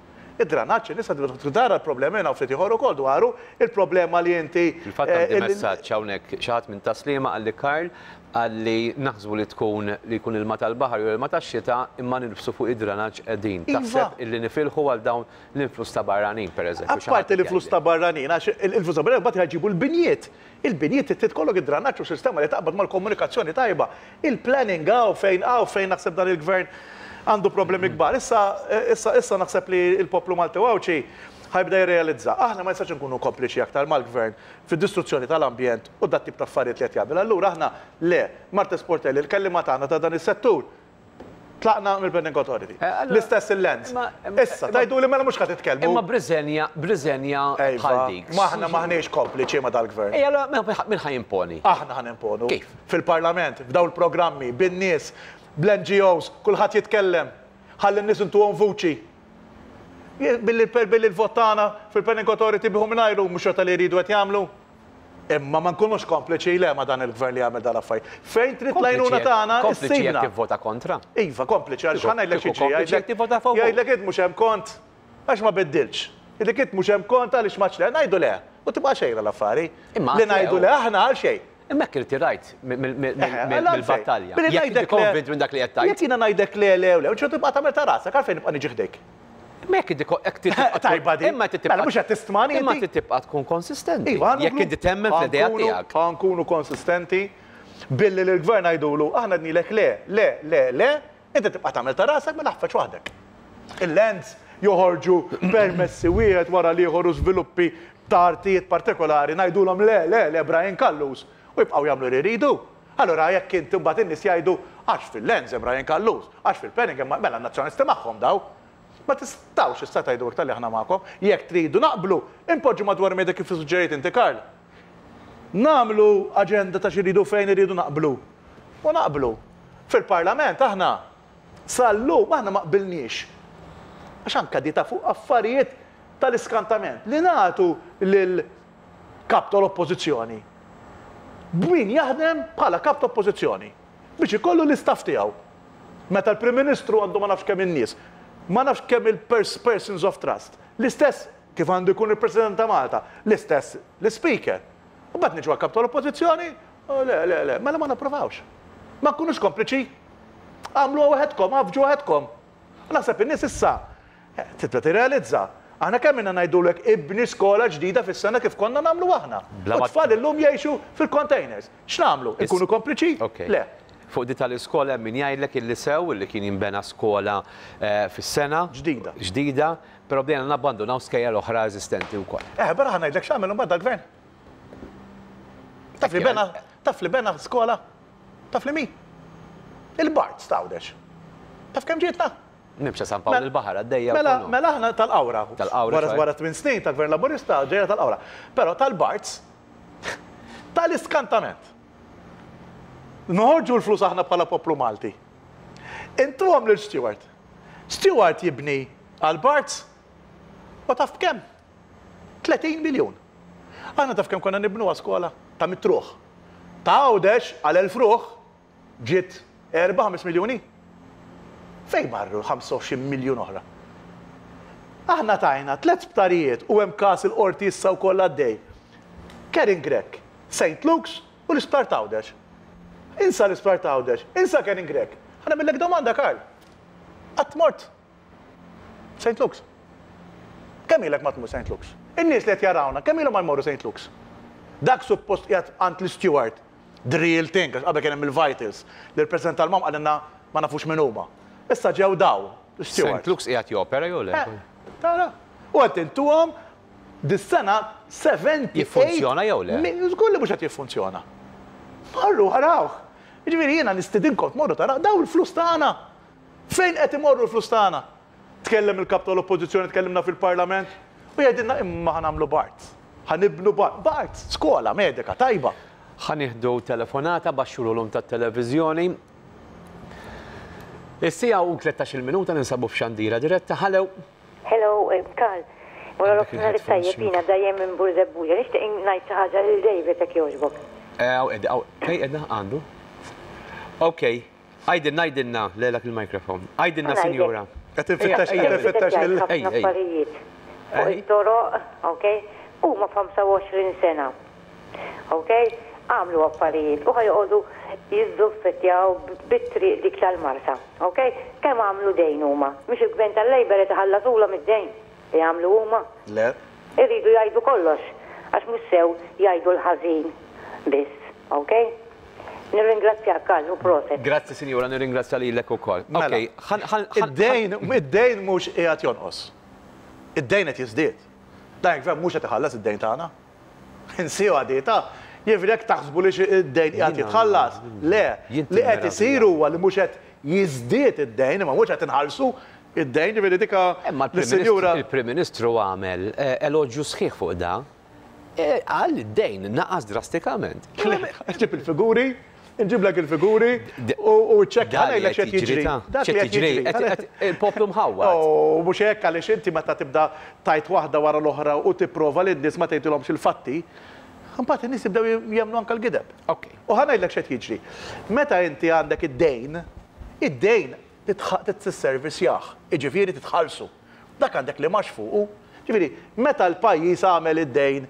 Id-dranaġġ, n-nies tibda tara l-problemi u ftit ieħor ukoll dwaru il-problema li inti. Fil-fatt għandi messaġġ hawnhekk, xi ħadd minn Tas-Sliema qalli, Karl, qalli naħsbu li tkun li jkun ilma tal-baħar jew ilma tax-xita imma nilbsu fuq id-dranaġġ qegħdin. Iva. Taħseb illi nifilħu għal dawn l-influss ta' barranin, pereżempju? Apparti l-influss ta' barranin, għax il-influss ta' barranin mbagħad jġibu l-binjiet. Il-binjiet trid ikollok id-dranaġġ u sistema li taqbad mal-komunikazzjoni tajba. Il-planning għaw fejn għaw fejn naħseb dan il-gvern għandu problemi kbar. Issa, issa, issa naħseb li il-poplu Malti Għawdxi ħa jibda jirrealizza. Aħna ma jistax nkunu kompliċi aktar mal-gvern fid-distruzzjoni tal-ambjent u dat tip ta' affarijiet li qed jagħmel. Allura aħna le, Marthese Portelli, il-kellima tagħna ta' dan is-settur, tlaqna mill-Planning Authority. Eh, L-istess il-lands. Issa, tajdu li mela mhux ħa titkellmu. Imma b'riżenja, b'riżenja bħal dik. Maħna maħniex kompliċi ma dal-gvern. Ejja, min ħa jimponi? Aħna ħa nimponu. Kif? Fil-parlament, f'daw il-programmi, bin-nies, bl-N G Os, kulħadd jitkellem. Ħalli n-nies intuhom vuċi. Billi billi l-vot tagħna fil-Planning Authority biħu mingħajru mhux xorta li jridu qed jagħmlu. Imma ma nkunux kompliċi le ma dan il-gvern li jagħmel dal-affarijiet. Fejn trid l-għajnuna tagħna, Kompliċi jekk tivvota kontra. Iva, kompliċi għaliex ħa ngħidlek xi Kompliċi jekk tivvota favur. Jgħidlek int mhux hemm kont għax ma biddilx. Jgħidlek int mhux hemm kont għaliex ma ċle, ngħidu le. U tibqa' xejn l-affari. Imma Li ngħidu le aħna għal xejn. Imma hekk irtirajt mill-battalja. Billi Jekk inti konvint minn dak li qed tgħid. Jekk jiena ngħidlek le le u le, u ċertu tibqa' tagħmel ta' rasek, għalfejn nibqa' niġi ħdejk? Imma jekk inti jekk tibqa' Tajba di. Imma tibqa' Mela mhux qed tistmani Imma inti. tibqa' tkun konsistenti. Iva, Jekk inti temmen fl-idea tiegħek. Ħa nkunu konsistenti billi l-gvern għajdulu, aħna għednielek le, le, le, le, inti tibqa' tagħmel ta' rasek, mela ħafeċ waħdek. Il-lands joħorġu permessi wieħed wara l-ieħor u żviluppi ta' artijiet partikolari, ngħidulhom le, le, le, Brian Callus, u jibqgħu jagħmlu li jridu. Allora jekk inti mbagħad in-nies jgħidu għax fil-lands hemm Brian Callus, għax fil-planning hemm, mela n-nazzjonalisti magħhom daw. Ma tistgħux issa tgħidu iktar li aħna magħkom. Jekk tridu naqblu, impoġġu madwar mejda kif suġġerejt inti, Karl. Nagħmlu aġenda ta' xi fejn iridu naqblu. U naqblu. Fil-parlament aħna sal-lum aħna ma qbilniex. Għax anka di ta' fuq affarijiet tal-iskantament li nagħtu lil kap tal-oppożizzjoni. B'min jaħdem bħala kap tal-oppożizzjoni biex ikollu l-istaff tiegħu. Meta l-Prim Ministru għandu ma nafx kemm in-nies, ma nafx kemm il-persons of trust. L-istess kif għandu jkun il-President ta' Malta, l-istess l-Speaker. U mbagħad niġu għal kap tal-oppożizzjoni, oh, le, le, le, mela ma napprovawx. Ma nkunux kompliċi. Għamlu waħedkom, għafġu waħedkom. Naħseb in-nies issa tibda tirrealizza. Aħna kemm inna ngħidulek ibni skola ġdida fis-sena kif konna nagħmlu aħna. U tfal illum jgħixu fil-containers. X'nagħmlu? Inkunu kompliċi? Le. Fuq di tal-iskola hemm min jgħidlek illi sew illi kien jinbena skola fis-sena. Ġdida. Ġdida, però bdejna nabbandunaw skejjel oħra eżistenti wkoll. Eh, barra ħa ngħidlek x'għamel imbagħad dal-gvern. Taf li bena, taf li bena skola? Taf li mi? Il-Barts t'Għawdex. Taf kemm ġietna? Nimxa San Pawl il-Baħar għaddejja. Mela, mela aħna tal-Qawra. Tal-Qawra. Wara tmien snin tal-Gvern Laburista ġejja tal-Qawra. Però tal-Barts tal-iskantament. Noħorġu l-flus aħna bħala poplu Malti. Intuhom lil Steward. Steward jibni għal Barts u taf b'kemm? tletin miljun. Aħna taf kemm konna nibnuha skola ta' mitt ruħ. Ta' Għawdex għal elf ruħ ġiet erba' ħames miljuni. Fejn marru ħamsa u għoxrin miljun oħra? Aħna tajna tliet sptarijiet u hemm każ il-qorti issa wkoll għaddej. Karin Grech, Saint Luke's u l-Isptar t'Għawdex. Insa l-Isptar t'Għawdex, insa Karin Grech. Ħa nagħmillek domanda, Karl. Qatt mort Saint Luke's. Kemm ilek ma tmur Saint Luke's? In-nies li qed jarawna, kemm ilhom ma jmorru Saint Luke's? Dak suppost qiegħed għand l-Steward, the real thing, għax qabel kien hemm il-Vitals, li l-President tal-Mam qalilna ma nafux min huma. Issa ġew daw, l-Steward. Saint Luke's qiegħed jopera jew le? Eh, tara. U qed intuhom dis-sena seventy-eight Jiffunzjona jew le? Mi-, żgur li mhux qed jiffunzjona. Marru ħarawh. Jiġifieri jiena nistidinkom tmorru taraw daw il-flus tagħna. Fejn qed imorru l-flus tagħna? Tkellem il-kap tal-oppożizzjoni, tkellimna fil-Parlament u jgħidilna imma ħa nagħmlu Barts. Ħa nibnu Barts, Barts, skola medika tajba. Ħa nieħdu telefonata baxxu l-volum tat-televiżjoni. Is-siegħa u tlettax-il minuta ninsabu f'xandira diretta. Hello. Hello, Karl. Wara Għandek l-opinjoni il-headphones tajjeb jiena dejjem minn Burżebbuġa. Nixtieq ngħid xi ħaġa lil David jekk jogħġbok. Eh, aw, ed, aw, fej edna għandu? Ok, għajdilna, għajdilna, lelak il-mikrofon. Għajdilna, Għajdek. sinjura. Qed infittex, Ejja, qed infittex Ejja, il- ħafna Ej, ej. affarijiet. Fuq Ej. it-toroq, ok? Huma f'ħamsa u għoxrin sena. Ok? Għamlu affarijiet u ħajqogħdu jiżżuffettjaw bit-triq dik tal-Marsa. Ok? Kemm għamlu dejn huma? Mhux il-gvern tal-Labour qed iħallasulhom id-dejn li għamlu huma. Le. Irridu jgħidu kollox, għax mhux sew jgħidu l-ħażin biss, ok? Nirringrazzjak, Karl, u proset. Grazzi, sinjura, nirringrazzja lilek ukoll. Mela, Ok, ħan, ħan, ħan, Id-dejn, id-dejn mhux qiegħed jonqos. Id-dejn qed jiżdied. Dan il-gvern mhux qed iħallas id-dejn tagħna. Insiju għadieta. Jiġifieri jekk taħsbu li xi id-dejn qiegħed Jiena- jitħallas, le, Jien li qed timmeraviglia. isir huwa li mhux qed jiżdied id-dejn, imma mhux qed inħallsu id-dejn, jiġifieri dika Imma lis-sinjura. il-Prim Ministru għamel, eh, elogju sħiħ fuq da. Eh, Qal li d-dejn naqas drastikament. Ġib il-figuri, nġiblek il-figuri u u ċekk Da ħa li ngħidlek qed x'qed jiġri. ta' Dak li x'qed qed jiġri. jiġri. Qed- qed- Il-poplu mħawwad. U mhux hekk għaliex inti meta tibda tajt waħda wara l-oħra u tipprova li n-nies ma tgħidilhomx il-fatti, imbagħad in-nies jibdew jemmnu anke l-gideb. Ok. U ħa ngħidlek x'qed jiġri. Meta inti għandek id-dejn, id-dejn titservisjah, jiġifieri titħallsu. Dak għandek li max fuqu. Ġifieri, meta l-pajjiż għamel id-dejn,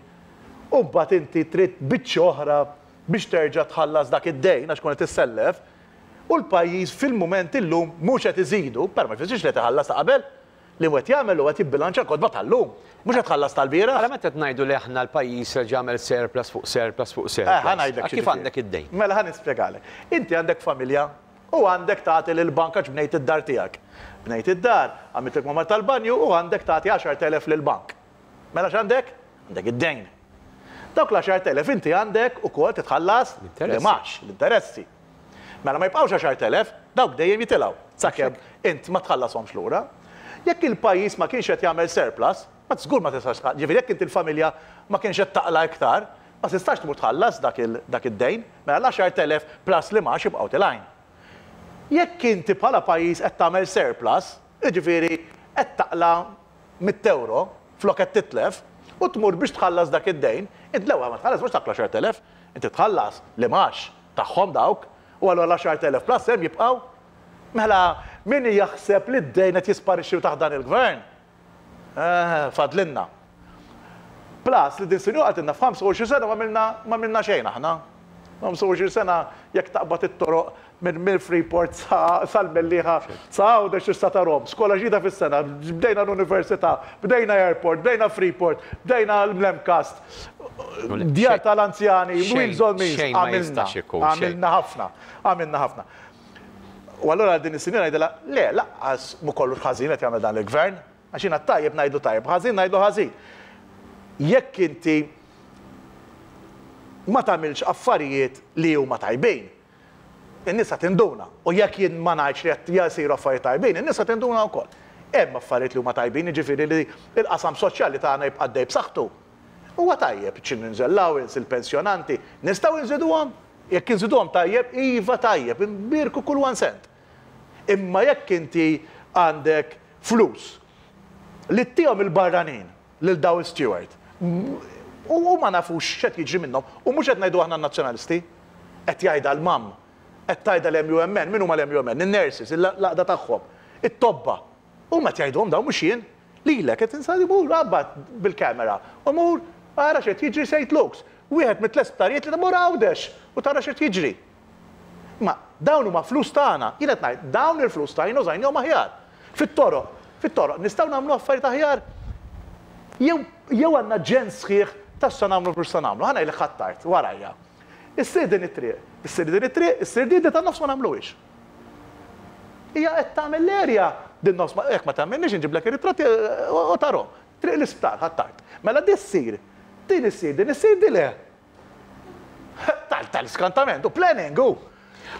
u mbagħad inti trid biċċa oħra biex terġa' tħallas dak id-dejn għax kont tissellef, u l-pajjiż fil-mument illum mhux qed iżidu, per ma jfissirx li tħallas ta' qabel, li qed jagħmel huwa qed jibbilanċa l-kotba tal-lum, mhux qed tħallas tal-bieraħ. Għala meta qed ngħidu li aħna l-pajjiż reġa' għamel surplus fuq surplus fuq surplus. Eh, ħa ngħidlek Kif x'jiġifieri. għandek id-dejn? Mela ħa nispjegalek. Inti għandek familja u għandek tagħti lill-bank għax bnejt id-dar tiegħek. Bnejt id-dar, għamilt il-kmamar tal-banju u għandek tagħti għaxart elef lill-bank. Mela x'għandek? Għandek id-dejn. Dawk l-għaxart elef inti għandek ukoll titħallas L-interessi. l-imgħax, l-interessi. Mela ma jibqgħux għaxart elef, dawk dejjem jitilgħu sakemm int ma tħallashomx lura. Jekk il-pajjiż ma kienx qed jagħmel surplus, ma żgur ma tistax tħallas. Ġifieri jekk inti l-familja ma kienx qed taqla iktar, ma tistax tmur tħallas dak il- dak id-dejn, mela l-għaxart elef plus l-imgħax jibqgħu tilgħin. Jekk inti bħala pajjiż qed tagħmel surplus, jiġifieri qed taqla mitt euro flok qed titlef u tmur biex tħallas dak id-dejn, int l-ewwel ma tħallas mhux dak l-għaxart elef, inti tħallas l-imgħax tagħhom dawk u allura l-għaxart elef plus hemm jibqgħu. Mela min jaħseb li d-dejn qed jisparixxi taħt dan il-gvern? Eh, fadlinna. Plus li din sinjura qaltilna f'ħamsa u għoxrin sena ma għamilna ma għamilna xejn aħna. ħamsa u għoxrin sena jekk taqbad it-toroq minn minn Freeport sal-Mellieħa sa Għawdex sa tarahom. Skola ġdida fis-sena, bdejna l-università, bdejna airport, bdejna Freeport, bdejna l-M C A S T, djar tal-anzjani, Wheels on Meals, għamilna, għamilna ħafna, għamilna ħafna. U allura din is-sinjora ngħidilha, le, lanqas mhu kollu ħażin qed jagħmel dan il-gvern, għax jiena tajjeb ngħidu tajjeb, ħażin ngħidu ħażin. Jekk inti ma tagħmilx affarijiet li huma tajbin, in-nisa tinduna. U jekk jien ma ngħidx li qed jasiru affarijiet tajbin, in-nisa tinduna wkoll. Hemm affarijiet li huma tajbin, jiġifieri li l-qasam soċjali tagħna jibqa' dej b'saħħtu. Huwa tajjeb, children's allowance, il-pensjonanti, nistgħu nżiduhom? Jekk inżiduhom tajjeb, iva tajjeb, nbierku kull one cent. Imma jekk inti għandek flus li ttihom il-barranin lil daw Steward, u ma nafux x'qed jiġri minnhom, u mhux qed ngħidu aħna nazzjonalisti, qed jgħidha l-M U M, qed tgħidha l-M U M N, min huma l-M U M N? In-nurses, l-għaqda tagħhom, it-tobba. U ma tgħidhom daw mhux jien, lilek qed insali mur rabbat bil-kamera u mur ara x'qed jiġri Saint Luke's. Wieħed mit sptarijiet li mur Għawdex u tara x'qed jiġri. Ma dawn huma flus tagħna, jien qed ngħid dawn il-flus tagħna użajnihom aħjar. Fit-toroq, fit-toroq nistgħu nagħmlu affarijiet aħjar. Jew jew għandna ġen sħiħ tassa nagħmlu mhux sa nagħmlu, ħa ngħidlek Ħ'Attard warajja. Issir din it-triq, issir din it-triq, issir din ta' nofs ma nagħmluhiex. Hija qed tagħmel l-erja din nofs ma jekk ma tagħmilniex inġiblek ir-ritratti u tarahom. Triq l-isptar Ħ'Attard. Mela din issir, din issir, din issir din le. Tal-skantament, u planning, u.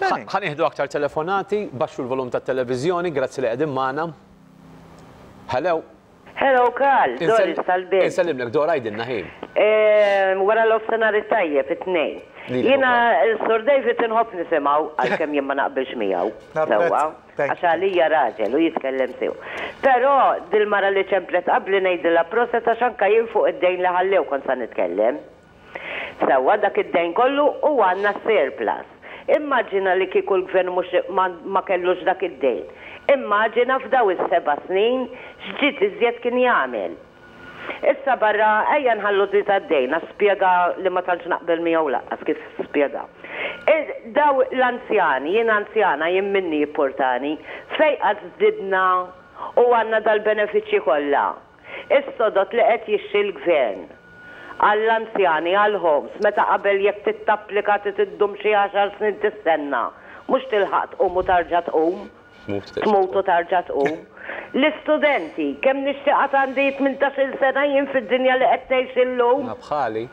Ħa nieħdu aktar telefonati, baxxu l-volum tat-televiżjoni, grazzi li qegħdin magħna. Hello. Hello, Karl, Doris tal-Belt. Insellimlek, Dora, għidilna ħin. Wara l-nofsinhar tajjeb, it-tnejn. Jiena, Sur David inħobb nisimgħu, għalkemm jien ma naqbilx miegħu. Sewwa, għax għalija raġel u jitkellem sew. Però dil-mara li ċemplet qabli ngħidilha proset, għax anke jien fuq id-dejn li ħallew kont sa nitkellem. Sewwa, dak id-dejn kollu u għandna surplus. Immaġina li kieku l-gvern mhux ma kellux dak id-dejn. Immaġina f'daw is-seba' snin x'ġid iżjed kien jagħmel. Issa barra ejja nħallu di tad-dejn, spjega li ma tantx naqbel miegħu lanqas kif spjega. Daw l-anzjani, jien anzjana, jien minni jipportani, fej qatt żdidna u għandna dal-benefiċċji kollha? Is-sodod li qed jixtri l-gvern għall-anzjani, għall-homes, meta qabel jekk tittapplika tiddum xi għaxar snin tistenna, mhux tilħaq tqum u tarġa' tqum. Tmut u tarġa' tqum. L-istudenti, kemm nixtieq għandi tmintax-il sena jien fid-dinja li qed ngħix illum. Bħali.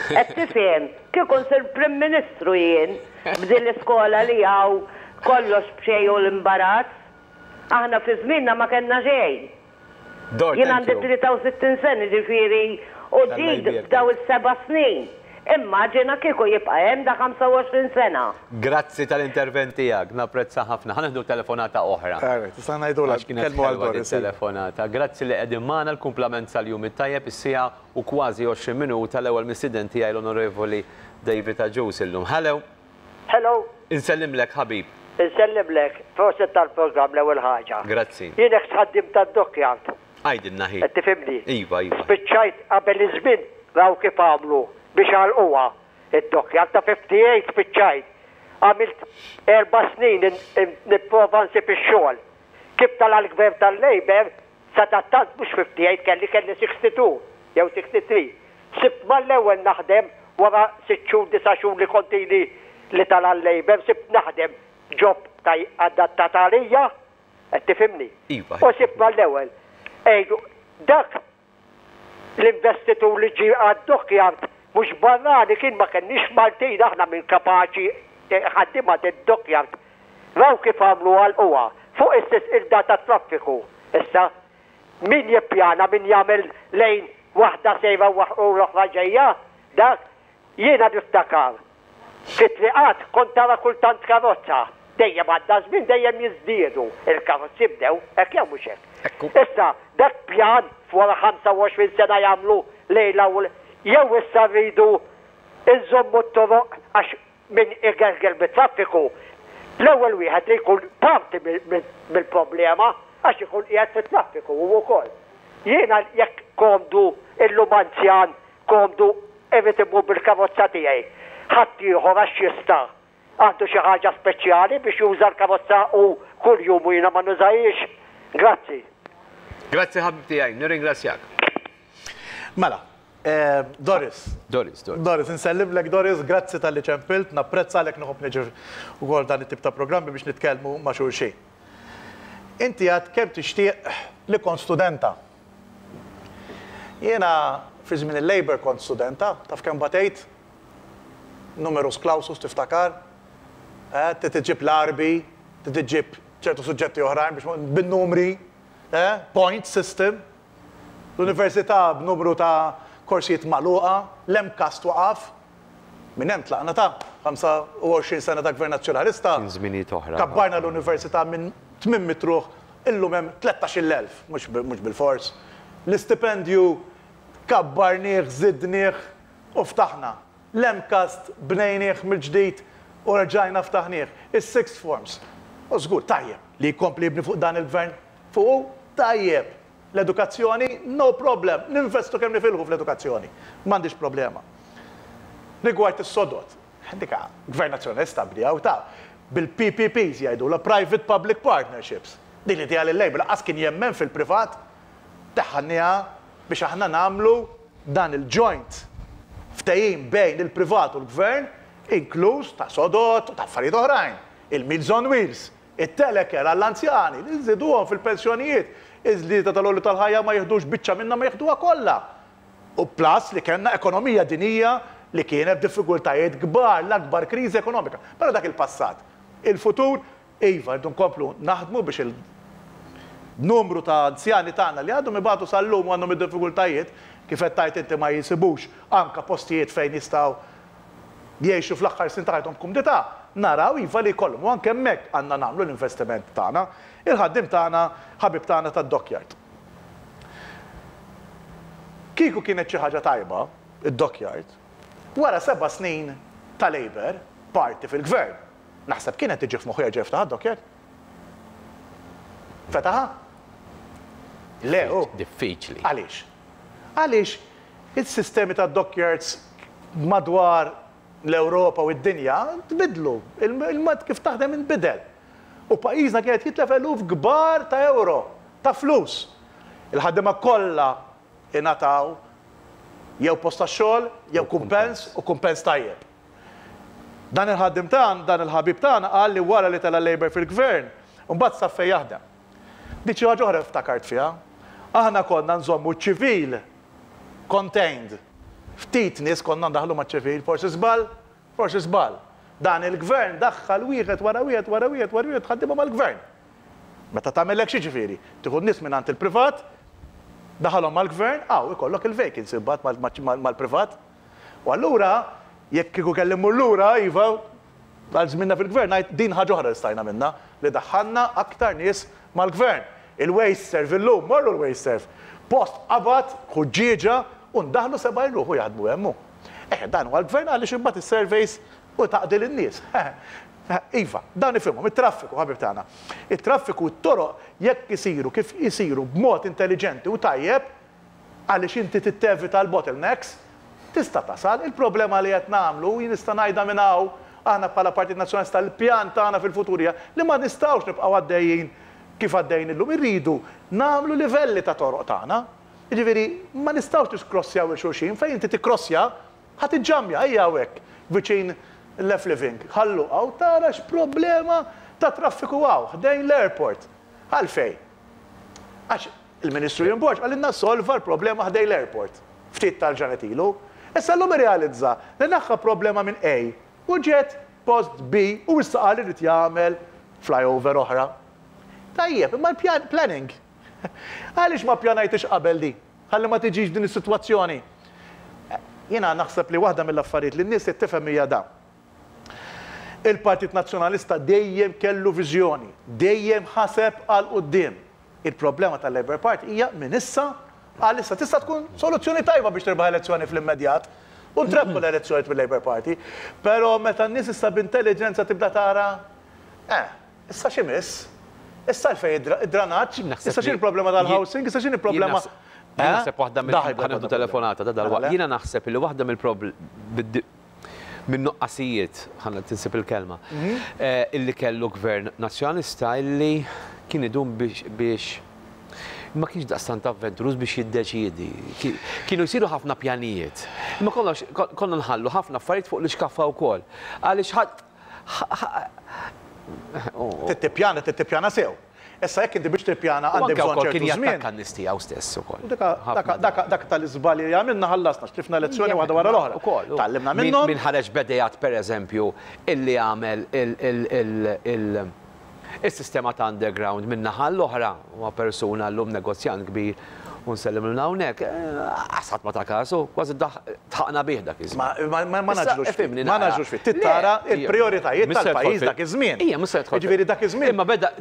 Qed tifhem, kieku nsir Prim Ministru jien b'din l-iskola li hawn kollox b'xejn u l-imbarazz. Aħna fi żmienna ma kellna xejn. Jien għandi tlieta u sittin sena, ġifieri, u ġid f'daw is-seba' snin. Immaġina kieku jibqa' hemm da ħamsa u għoxrin sena. Grazzi tal-intervent tiegħek, napprezza ħafna. Ħa nieħdu telefonata oħra. Tista' ngħidu kienet telefonata. Grazzi li qegħdin magħna, l-kumplament sal-jum it-tajjeb, is-siegħa u kważi għoxrin minuta, l-ewwel mistieden tiegħi l-Onorevoli David Agius illum. Hello. Hello. Insellimlek, ħabib. Insellimlek, proset tal-programm l-ewwel ħaġa. Grazzi. Jien ex ħaddim tad-dockyard. Għidilna ħi. Qed tifhimni? Iva, iva. Spiċċajt qabel iż-żmien, raw kif għamlu biex għalquha id-dockyard ta' ħamsa u ħamsin spiċċajt. Għamilt erba' snin nipprova nsib ix-xogħol. Kif tala l-gvern tal-Labour, sadattant mhux ħamsa u ħamsin kelli kelli sitta u sittin jew sitta u sittin. Sibt mal-ewwel naħdem wara sitt xhur, disa' xhur li kontili li tala l-Labour, sibt naħdem job taj adattat għalija, qed tifhimni? Iva. U sibt mal-ewwel. Ejdu, dak l-investitur li ġi għad-dockyard mhux barrani kien, ma kenniex Maltin aħna minn kapaċi ħaddima d-dockyard. Raw kif għamlu, għalquha fuq istess il-data traffiku. Issa, min jippjana, min jagħmel lejn waħda sejra u l-oħra ġejja, dak jiena niftakar. Fit-triqat kont tara kultant karozza. Dejjem għadda żmien dejjem jiżdiedu il-karozzi bdew, hekk jew mhux hekk? Issa, dak pjan wara ħamsa u għoxrin sena jagħmlu lejla u jew issa rridu nżommu t-toroq, għax min igerger bit-traffiku l-ewwel wieħed li jkun parti mill-problema għax ikun qiegħed fit-traffiku u wkoll. Jiena jekk komdu illum anzjan, komdu irrid imur bil-karozza tiegħi. Ħaddieħor għax jista' għandu xi ħaġa speċjali biex juża l-karozza u kuljum u jiena ma nużahiex. Grazzi. Grazzi ħabib tiegħi, nirringrazzjak. Mela, eh, Doris. Doris, Doris. Doris, insellimlek Doris, grazzi talli ċempilt, napprezza għalek nħobb niġi ukoll dan it-tip ta' programmi biex nitkellmu ma' xulxin. Inti għad kemm tixtieq li kont studenta. Jiena fi żmien il-Labour kont studenta, taf kemm batejt? Numerus clausus tiftakar? Eh, Trid iġġib l-Għarbi, trid iġġib ċertu suġġetti oħrajn biex bin-numri, eh, point system. L-università b'numru ta' korsijiet magħluqa, l-MCAST waqaf, minn hemm tlaqna ta' ħamsa u għoxrin sena ta' Gvern Nazzjonalista. Kien żminijiet oħra. Kabbarna l-università minn tmien mitt ruħ, illum hemm tlettax-il elf, mhux mhux bil-fors. L-istipendju kabbarnieh, żidnieh u ftaħna. L-MCAST bnejnieh mill-ġdid u rġajna ftaħnieh. Is-sixth forms. U żgur tajjeb li jkompli jibni fuq dan il-gvern. Fuq tajjeb. L-edukazzjoni, no problem. Ninvestu kemm nifilħu fl-edukazzjoni. M'għandix problema. Rigward is-sodod, dika Gvern Nazzjonalista bdew ta' bil-P P Ps jgħidu la Private Public Partnerships. Din li li l-Labour lanqas kien jemmen fil-privat, daħħalnieha biex aħna nagħmlu dan il-joint ftehim bejn il-privat u l-gvern, inkluż ta' sodod u ta' affarijiet oħrajn. Il-Meals on Wheels, it-telecare għall-anzjani, li nżiduhom fil-pensjonijiet, iż-żieda tal-għoli tal-ħajja ma jiħdux biċċa minna, ma jiħduha kollha. U plus li kellna ekonomija dinija li kienet diffikultajiet kbar, l-akbar kriżi ekonomika. Però dak il-passat. Il-futur, iva, rridu nkomplu naħdmu biex il-numru ta' anzjani tagħna li għadhom ibatu sal-lum u għandhom id-diffikultajiet, kif qed tgħid inti, ma jinsibux anka postijiet fejn jistgħu jgħixu fl-aħħar snin ta' ħajthom b'kumdità, naraw iva li jkollhom u anke hemmhekk għandna nagħmlu l-investiment tagħna. Il-ħaddim tagħna, ħabib tagħna tad-dockyard. Kieku kienet xi ħaġa tajba, id-dockyard, wara seba' snin ta' Labour, parti fil-gvern, naħseb kienet tiġi f'moħħu jerġa' jiftaħ id-dockyard. Fetaħa? Le, u. Diffiċli. Għaliex? Għaliex il-sistemi ta' dockyards madwar l-Ewropa u id-dinja tbidlu. Il-mod kif taħdem inbidel. U pajjiżna kienet jitlef eluf kbar ta' euro, ta' flus. Il-ħaddiema kollha ingħataw jew post ta' xogħol, jew kumpens u kumpens tajjeb. Dan il-ħaddim tagħna, dan il-ħabib tagħna qal li wara li tela Labour fil-gvern, mbagħad sab fejn jaħdem. Dik xi ħaġa oħra ftakart fiha. Aħna konna nżommu ċivil contained. Ftit nies konna ndaħlu ma' ċivil, forsi żball, forsi żball. Dan il-gvern daħħal wieħed wara wieħed wara wieħed wara wieħed ħaddiema mal-gvern. Meta tagħmel hekk xiġifieri? Tieħu n-nies minn il-privat, daħalhom mal-gvern, għaw ikollok il-vacancy mbagħad mal-privat. U allura, jekk kieku kelli mmur lura, iva, għal żminna fil-gvern, ngħid din ħaġa oħra li stajna minna, li daħħalna aktar nies mal-gvern. Il-WasteServ illum, morru l-WasteServ. Post qabad, ħuġġieġa, u ndaħlu sebgħin ruħu jaħdmu hemmu. Eh, dan huwa l-gvern għaliex imbagħad is-surveys u taqdi lin-nies. Iva, dan ifhimhom, it-traffiku, ħabib tagħna. It-traffiku, t-toroq jekk isiru kif isiru b'mod intelligenti u tajjeb, għaliex inti tittevita l-bottlenecks, tista' tasal. Il-problema li qed nagħmlu, jien nista' ngħidha minn hawn, aħna bħala Partit Nazzjonalista l-pjan tagħna fil-futur hija li ma nistgħux nibqgħu għaddejjin kif għaddejjin illum, irridu nagħmlu livelli ta' toroq tagħna. Jiġifieri ma nistgħux niskrossjaw lil xulxin, fejn inti tikkrossja ħa tiġġamja. Ejja hawnhekk viċin left living. Ħallu għaw tara x'problema ta' traffiku għaw, ħdejn l-airport. Għalfej? Għax il-Ministru Ian Borg qalilna solva l-problema ħdejn l-airport. Ftit tal-ġranet ilu. Issa l-lum realizza li neħħa problema minn A u ġiet post B u issa qal irid jagħmel flyover oħra. Tajjeb, imma l-planning. Għaliex ma pjanajtix qabel di? Ħalli ma tiġix din is-sitwazzjoni. Jiena naħseb li waħda mill-affarijiet li n-nies tifhem hija da. Il-Partit Nazzjonalista dejjem kellu viżjoni, dejjem ħaseb għal quddiem. Il-problema tal-Labour Party hija minn issa għal issa. Tista' tkun soluzzjoni tajba biex tirbaħ elezzjoni fl-immedjat. U ntrebħu l-elezzjoni mill-Labour Party. Però meta n-nies issa b'intelligenza tibda tara, eh, issa x'imiss? Issa l-fej id-dranaġġ, issa x'in il-problema tal-housing, issa x'in il-problema. Jien naħseb waħda mill ħa nieħdu telefonata da dalwaqt. Jiena naħseb li waħda mill minn nuqqasijiet, ħanna tinsib il-kelma, illi kellu gvern nazzjonalista illi kien idum biex ma kienx daqstant avventuruż biex jiddeċiedi. Kienu jsiru ħafna pjanijiet. Imma konna nħallu ħafna affarijiet fuq l-iskaffa wkoll. Għaliex ħadd Tittipjana, tittipjana sew. Issa jekk inti biex tippjana għandek bżonn ċertu żmien. Kien jattakka n-nies tiegħu stess ukoll. Dak tal-iżbalji li għamilna ħallasna, x'tlifna lezzjoni waħda wara l-oħra. Tgħallimna minnhom. Min ħareġ bedejat pereżempju illi għamel il-sistema ta' underground minn naħa l-oħra huwa persuna llum negozjant kbir u nsellimlu hawnhekk, ħadd ma ta' kasu, kważi tħaqna bih dak iż-żmien. Ma naġlux fih, ma naġlux fih. Tittara il-prijoritajiet tal-pajjiż dak iż-żmien. Ija, mhux se jidħol. Jiġifieri dak iż-żmien. Imma beda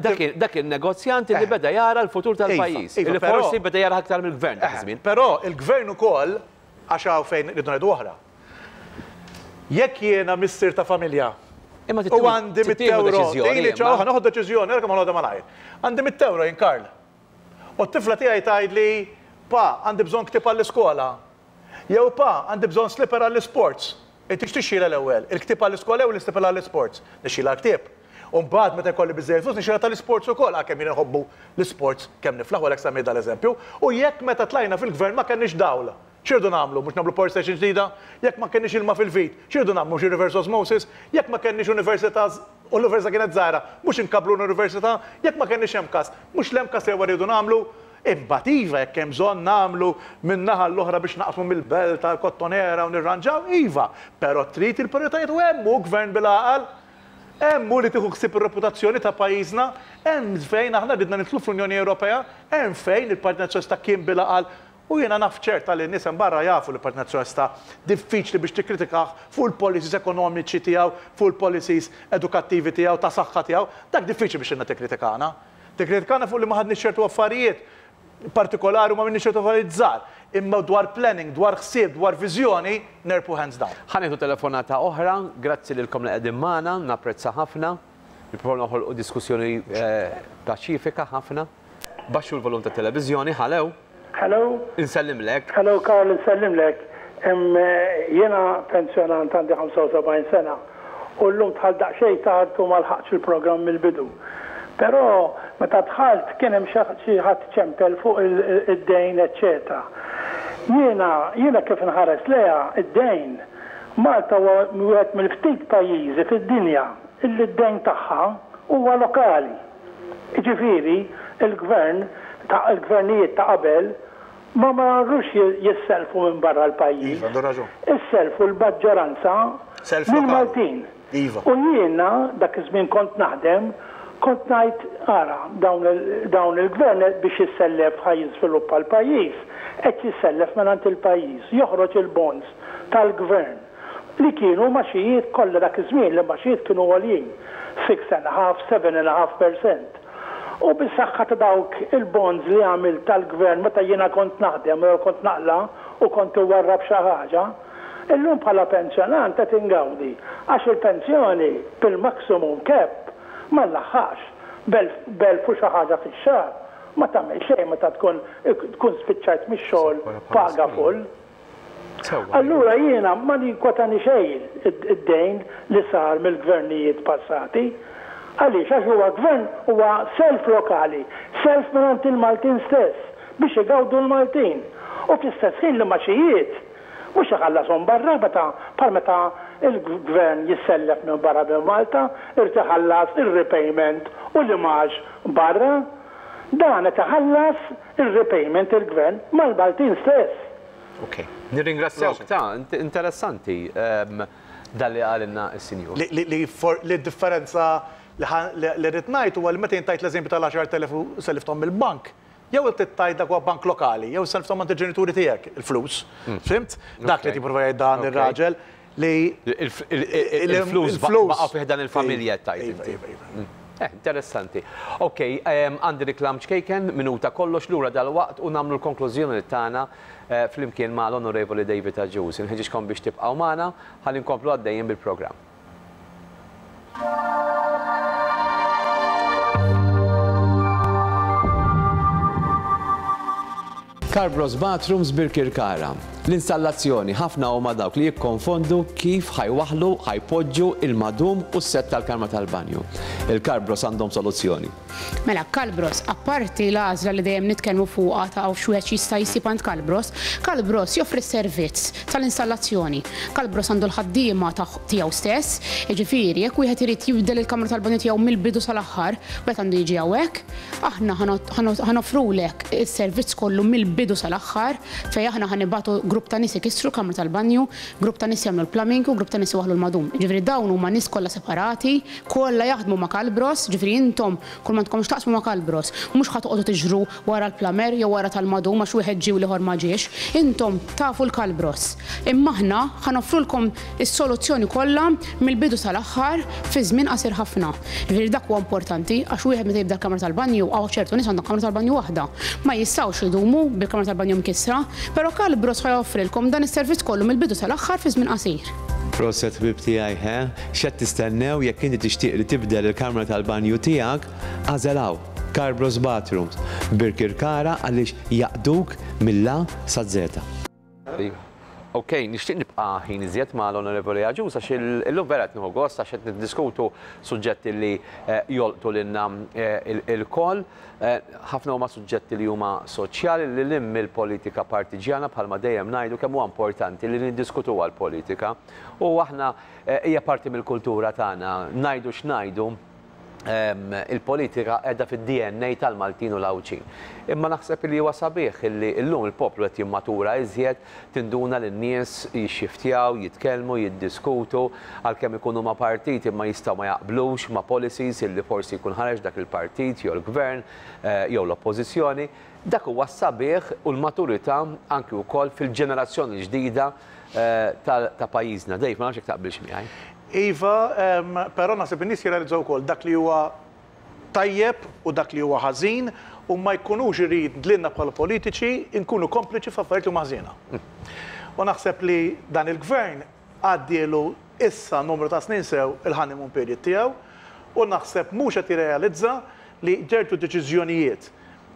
dak il-negozjant li beda jara l-futur tal-pajjiż. Li forsi beda jara aktar mill-gvern dak iż-żmien. Però il-gvern ukoll għax hawn fejn rridu ngħidu oħra. Jekk jiena missier ta' familja u għandi mitt euro, tgħidli ċaw ħa noħod deċiżjoni, ara kemm ħanoħodha malajr. Għandi mitt euro jien Karl. U t-tifla tiegħi tgħidli, pa, għandi bżonn ktieb għall-iskola. Jew pa, għandi bżonn slipper għall-isports. Inti x'tixxila l-ewwel? Il-ktieb għall-iskola jew l-islipper għall-isports? Nixxila l-ktieb. U mbagħad meta jkolli biżżejjed flus nixxila tal-isports ukoll, għalkemm jien inħobbu l-isports kemm niflaħ għalhekk semmejt dal-eżempju. U jekk meta tlajna fil-gvern ma kenniex dawl, x'irdu nagħmlu? Mhux nagħmlu power station ġdida? Jekk ma kenniex ilma fil-vit, x'irdu nagħmlu? Mhux reverse osmosis? Jekk ma kenniex università u l-università kienet żgħira, mhux inkabbru l-università? Jekk ma kenniex M C A S, mhux l-M C A S jew rridu nagħmlu? Imbagħad iva jekk hemm bżonn nagħmlu minn naħa l-oħra biex naqsmu mill-belt tal-Kottonera u nirranġaw, iva, però trid il-prijoritajiet u hemm hu gvern bil-għaqal, hemm hu li tieħu ħsieb ir-reputazzjoni ta' pajjiżna, hemm fejn aħna ridna nidħlu fl-Unjoni Ewropea, hemm fejn il-Partit Nazzjonalista kien bil-għaqal. U jiena naf ċerta li n-nies hemm barra jafu li l-Partit Nazzjonalista diffiċli biex tikkritikah fuq il-policies ekonomiċi tiegħu, fuq il-policies edukattivi tiegħu, ta' saħħa tiegħu, dak diffiċli biex inna tikkritikana. Tikkritikana fuq li ma ħadniex ċertu affarijiet partikolari u ma minniex ċertu affarijiet żgħar. Imma dwar planning, dwar ħsieb, dwar viżjoni, nerpu hands down. Ħa nieħdu telefonata oħra, grazzi lilkom li qegħdin magħna, napprezza ħafna. Nipprovaw noħolqu diskussjoni paċifika ħafna. Baxxu l-volum tat-televiżjoni, ħalew. Hello. Insellimlek. Hello Karl, insellimlek. Jiena pensjonant għandi ħamsa u sebgħin sena u llum dħalt daqsxejn tard u ma lħaqtx il-programm mill-bidu. Però meta dħalt kien hemm xi ħadd ċempel fuq id-dejn, eċċetera. Jiena jiena kif inħares leha id-dejn, Malta huwa wieħed mill-ftit pajjiżi fid-dinja illi d-dejn tagħha huwa lokali. Jiġifieri il-gvern ta' il-gvernijiet ta' qabel ma marrux jisselfu minn barra l-pajjiż. Iva, għandu raġun. Isselfu l-maġġoranza mill-Maltin. Iva. U jiena dak iż-żmien kont naħdem, kont ngħid ara dawn il-gvern biex jissellef ħaj jiżviluppa l-pajjiż, qed jissellef mingħand il-pajjiż, joħroġ il-bonds tal-gvern li kienu maxijiet kollha dak iż-żmien li maxijiet kienu għoljin, six and a half, seven and a half percent. U bis-saħħa ta' dawk il-bonds li għamil tal-gvern meta jiena kont naħdem jew kont naqla u kont iwarrab xi ħaġa, illum bħala pensjonant qed ingawdi għax il-pensjoni bil-maximum cap ma nlaħħax b'elf u xi ħaġa fix-xahar ma tagħmel xejn meta tkun tkun spiċċajt mix-xogħol paga full. Allura jiena ma ninkwetani xejn id-dejn li sar mill-gvernijiet passati. Għaliex, għax huwa gvern huwa self lokali, self mingħand il-Maltin stess biex igawdu l-Maltin. U fl-istess ħin li maxijiet mhux iħallashom barra meta bħal meta il-gvern jissellef minn barra minn Malta, irid iħallas ir-repayment u l-imax barra. Dan qed iħallas ir-repayment il-gvern mal-Maltin stess. Ok, nirringrazzjawk ta' interessanti dan li qalilna s-sinjur. Li differenza li rrid ngħid huwa li meta intajt l-eżempju tal-għaxar elef sellifthom mill-bank, jew tittajt dak huwa bank lokali, jew sellifthom għand il-ġenituri tiegħek il-flus. Fimt? Dak li tipprova jgħid dan ir-raġel li il-flus baqgħu fih dan il-familja tajt. Interessanti. Ok, għandi reklam ċkejken, minuta kollox lura dal-waqt u nagħmlu l-konklużjoni tagħna flimkien ma' l-Onorevoli David Agius. Inħeġġiġkom biex tibqgħu magħna ħalli nkomplu għaddejjin bil-programm. Carbros Bathrooms Birkirkara. L-installazzjoni, ħafna huma dawk li jikkonfondu kif ħa jwaħħlu, ħa jpoġġu il-madum u s-set tal-kamra tal-banju. Il-Carbros għandhom soluzzjoni. Mela, Calbros, apparti l-għażla li dejjem nitkellmu fuqha ta' x'wieħed jista' jsib għand Calbros, Calbros joffri servizz tal-installazzjoni. Calbros għandu l-ħaddiema tiegħu stess, jiġifieri jekk wieħed irid jibdel il-kamra tal-banju tiegħu mill-bidu sal-aħħar, wieħed għandu jiġi hawnhekk, aħna ħa noffrulek is-servizz kollu mill-bidu sal-aħħar fejn aħna ħa nibagħtu grupp ta' nies ikissru l-kamra tal-banju, grupp ta' nies jagħmlu l-plumbing u grupp ta' nies iwaħħlu l-madum. Ġifieri dawn huma nies kollha separati, kollha jaħdmu ma' Calbros, ġifieri intom kull ma tkomx taqsmu ma' Calbros, mhux ħa toqgħodu tiġru wara l-plumber jew wara tal-madum għax wieħed ġie u l-ieħor ma ġiex. Intom tafu l-Calbros. Imma aħna ħa noffrulkom is-soluzzjoni kollha mill-bidu sal-aħħar fi żmien qasir ħafna. Ġifieri dak huwa importanti għax wieħed meta jibda l-kamra tal-banju hawn ċertu nies għandhom kamra tal-banju waħda. Ma jistgħux idumu bil-kamra tal-banju mkissra, però Calbros ħa joffrilkom dan is-servizz kollu mill-bidu sal-aħħar fi żmien qasir. Proset ħbib tiegħi, he? X'qed tistennew jekk inti tixtieq li tibdel il-kamra tal-banju tiegħek, agħżel hawn Carbros Bathrooms Birkirkara għaliex jaqduk mill-A sa Z. Ok, nixtieq nibqa' ħin iżjed ma' l-Onorevoli Agius għax illum vera qed nieħu gost għax qed niddiskutu suġġetti li jolqtu lilna il-koll. Ħafna huma suġġetti li huma soċjali li lil hinn mill-politika partiġjana bħalma dejjem ngħidu kemm huwa importanti li niddiskutuha l-politika. U aħna hija parti mill-kultura tagħna, ngħidu x'ngħidu, il-politika qiegħda fid-D N A tal-Maltin u l-Għawdxin. Imma naħseb li huwa sabiħ li llum il-poplu qed jimmatura iżjed, tinduna li n-nies jixxiftjaw, jitkellmu, jiddiskutu, għalkemm ikunu ma' partit imma jistgħu ma jaqblux ma' policies illi forsi jkun ħareġ dak il-partit jew l-gvern jew l-oppożizzjoni. Dak huwa sabiħ u l-maturità anki wkoll fil-ġenerazzjoni ġdida ta' pajjiżna. Dave, ma nafx jekk taqbilx miegħi. Iva, però naħseb in-nies jirrealizzaw ukoll dak li huwa tajjeb u dak li huwa ħażin u ma jkunux irid lilna bħala politiċi nkunu kompliċi f'affarijiet li huma ħażina. U naħseb li dan il-gvern għaddielu issa numru ta' snin sew il-honeymoon period tiegħu u naħseb mhux qed jirrealizza li ċertu deċiżjonijiet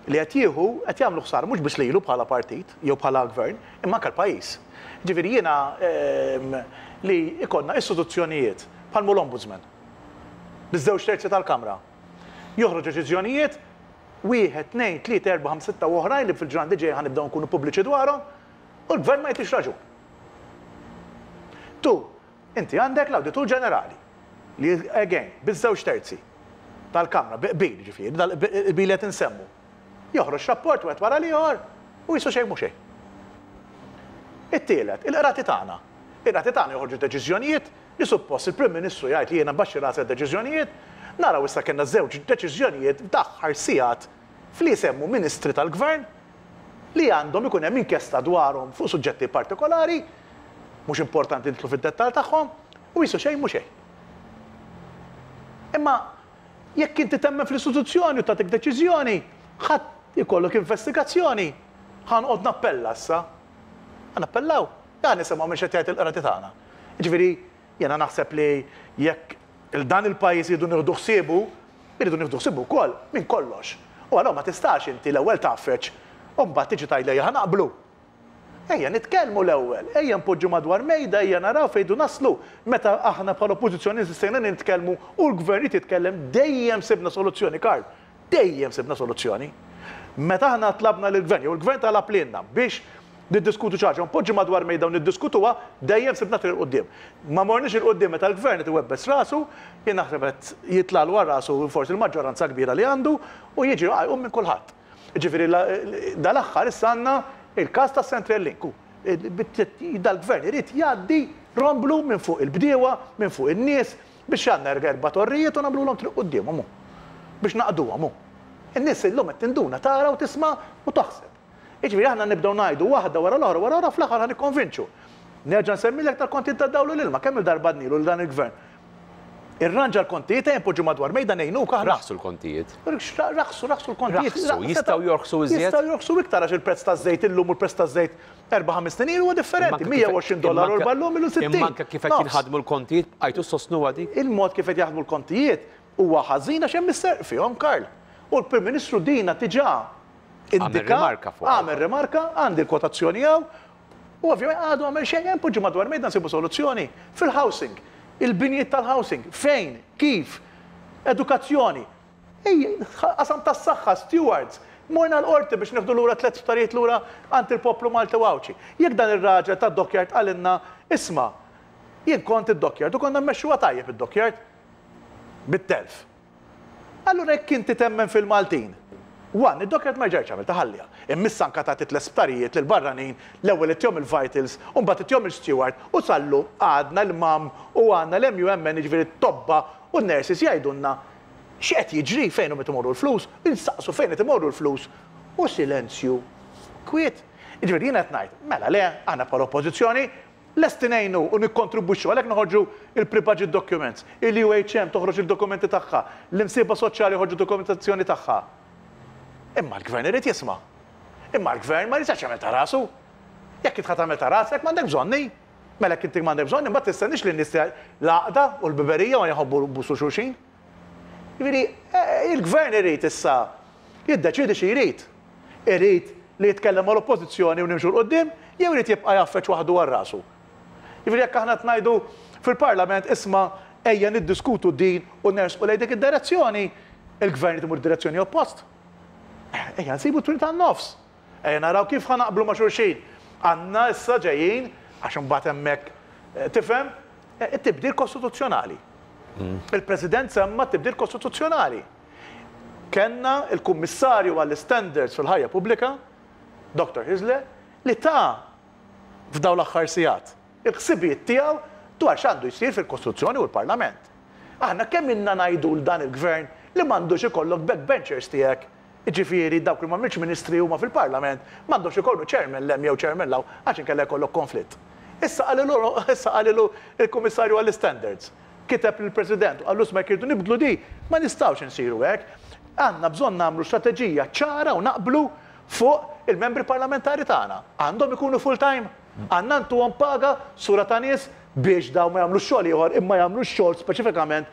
li qed jieħu qed jagħmlu ħsara mhux biss lilu bħala partit jew bħala gvern, imma anke l-pajjiż. Ġifieri jiena li ikollna istituzzjonijiet bħal l-Ombudsman biż-żewġ terzi tal-Kamra. Joħroġ deċiżjonijiet wieħed, tnejn, tlieta, erba', ħamsa, sitta u oħrajn li fil-ġranet li ġej ħa nibdew nkunu pubbliċi dwarhom u l-gvern ma jtix raġun. Tu, inti għandek l-Awditur Ġenerali li again biż-żewġ terzi tal-Kamra, bil ġifieri, bil qed insemmu. Joħroġ rapport wieħed wara l-ieħor u qisu xejn mhu xejn. It-tielet, il-qrati tagħna. Il-qrati tagħna joħorġu deċiżjonijiet li suppost il-Prim Ministru jgħid li jiena nbaxxi rasi deċiżjonijiet, naraw issa kellna żewġ deċiżjonijiet f'daħħar sigħat fli semmu ministri tal-gvern li għandhom ikun hemm inkjesta dwarhom fuq suġġetti partikolari, mhux importanti nidħlu fid-dettall tagħhom, u qisu xejn mhu xejn. Imma jekk inti temmen fl-istituzzjoni u tagħtik deċiżjoni, ħadd ikollok investigazzjoni, ħa noqgħod nappella issa. Ħa nappellaw, ħa nisimgħu minn x'qed jgħid il-qrati tagħna. Ġifieri, jiena naħseb li jekk il-dan il-pajjiż jridu nieħdu ħsiebu, jridu nieħdu ħsiebu wkoll minn kollox. U allura ma tistax inti l-ewwel tgħaffeġ u mbagħad tiġi tgħid li ħa naqblu. Ejja nitkellmu l-ewwel, ejja npoġġu madwar mejda, ejja naraw fejn naslu. Meta aħna bħala oppożizzjoni insistejna nitkellmu u l-gvern jitkellem dejjem sibna soluzzjoni, Karl. Dejjem sibna soluzzjoni. Meta aħna tlabna lill-gvern, jew il-gvern talab lilna biex niddiskutu xi ħaġa, npoġġu madwar mejda u niddiskutuha, dejjem sibna triq 'il quddiem. Ma morniex 'il quddiem meta l-gvern qed iwebbes rasu, jien naħseb qed jitlagħlu għal rasu forsi l-maġġoranza kbira li għandu u jiġi jqum minn kulħadd. Ġifieri dal-aħħar issa għandna il-każ ta' Central Link. Dal-gvern irid jgħaddi romblu minn fuq il-bdiewa, minn fuq in-nies biex għandna erba' torrijiet u nagħmluhom triq quddiemhom biex naqduhom. In-nies illum qed tinduna tara u tisma' u taħseb. Jiġifieri aħna nibdew ngħidu waħda wara l-oħra wara l-oħra, fl-aħħar ħa nikkonvinċu. Nerġa' nsemmilek tal-kontijiet tad-dawl u l-ilma, kemm il-darba għednilu lil dan il-gvern. Irranġa l-kontijiet, ejja npoġġu madwar mejda ngħinuk aħna. Raħsu l-kontijiet. Raħsu, raħsu l-kontijiet. Raħsu, jistgħu jorħsu iżjed? Jistgħu jorħsu iktar għax il-prezz taż-żejt illum u l-prezz taż-żejt erba' ħames snin huwa differenti. mija u għoxrin dollaru l illum ilu sittin. Imma anke kif qed jinħadmu l-kontijiet, bqajtu sostnuha dik? Il-mod kif qed jaħdmu l-kontijiet huwa ħażin għax hemm is-serq fihom, Karl. U l-Prim Ministru dina diġà indika. Għamel rimarka fuq. Għamel rimarka, għandi l-kwotazzjoni hawn. U ovvjament għadu għamel xejn, hemm poġġu madwar mejda nsibu soluzzjoni. Fil-housing, il-binjiet tal-housing, fejn, kif, edukazzjoni, qasam tas-saħħa, stewards, morna l-qorti biex nieħdu lura tliet sptarijiet lura għand il-poplu Malti u Għawdxi. Jekk dan ir-raġel tad-dockyard qalilna, isma', jien kont id-dockyard u konna mmexxuha tajjeb id-dockyard bit-telf. Allura jekk inti temmen fil-Maltin, one, id-dockyard ma ġerċ għamil taħallija. Immissa anka tagħti tliet sptarijiet lil barranin, l-ewwel ittihom il-Vitals, u mbagħad ittihom il-Steward, u sallum għadna l-M A M u għandna l-M U M N, jiġifieri t-tobba u n-nurses jgħidulna x'qed jiġri, fejn hum imorru l-flus, insaqsu fejn qed imorru l-flus, u silenzju, kwiet. Jiġifieri jiena qed ngħid, mela le, aħna bħala oppożizzjoni lesti ngħinu u nikkontribwixxu, għalhekk noħorġu il-pre-budget documents, il-U H M toħroġ il-dokumenti tagħha, l-imsieba soċjali joħorġu dokumentazzjoni tagħha. Imma l-gvern irid jisma'. Imma l-gvern ma jistax jagħmel ta' rasu. Jekk int tagħmel ta' rasek, m'għandek bżonni. Mela jekk inti m'għandek bżonni, mbagħad tistenniex li n-nies l-għaqda u l-biberija ma jħobbu busu xulxin. Jiġifieri il-gvern irid issa jiddeċidi xi jrid. Irid li jitkellem mal-oppożizzjoni u nimxu 'l quddiem, jew irid jibqa' jaffeċ waħdu għal rasu. Jiġifieri jekk aħna ngħidu fil-Parlament, isma', ejja niddiskutu din u nersqu lejn dik id-direzzjoni, il-gvern imur direzzjoni oppost. Ejja nsibu triq tan-nofs. Ejja naraw kif ħa naqblu ma' xulxin. Għandna issa ġejjin, għax imbagħad hemmhekk tifhem, it-tibdil kostituzzjonali. Il-President semma tibdil kostituzzjonali. Kenna il-Kummissarju għall-Standards fil-ħajja pubblika, Doktor Hyzler, li ta' f'daw l-aħħar sigħat il-ħsibijiet tiegħu dwar x'għandu jsir fil-Kostituzzjoni u l-Parlament. Aħna kemm inna ngħidu l dan il-gvern li m'għandux ikollok backbenchers tiegħek, jiġifieri dawk li m'għamilx ministri huma fil-Parlament, m'għandux ikollu chairman 'l hemm jew chairman 'l hawn, għax inkella jkollok konflitt. Issa qalilu issa qalilu il-Kummissarju għall-Standards. Kiteb lill-President u qallu, isma', jridu nibdlu di, ma nistgħux insiru hekk. Għandna bżonn nagħmlu strateġija ċara u naqblu fuq il-membri parlamentari tagħna. Għandhom ikunu full time. Għandna ntuhom paga sura ta' nies biex daw ma jagħmlu xogħol ieħor imma jagħmlu xogħol speċifikament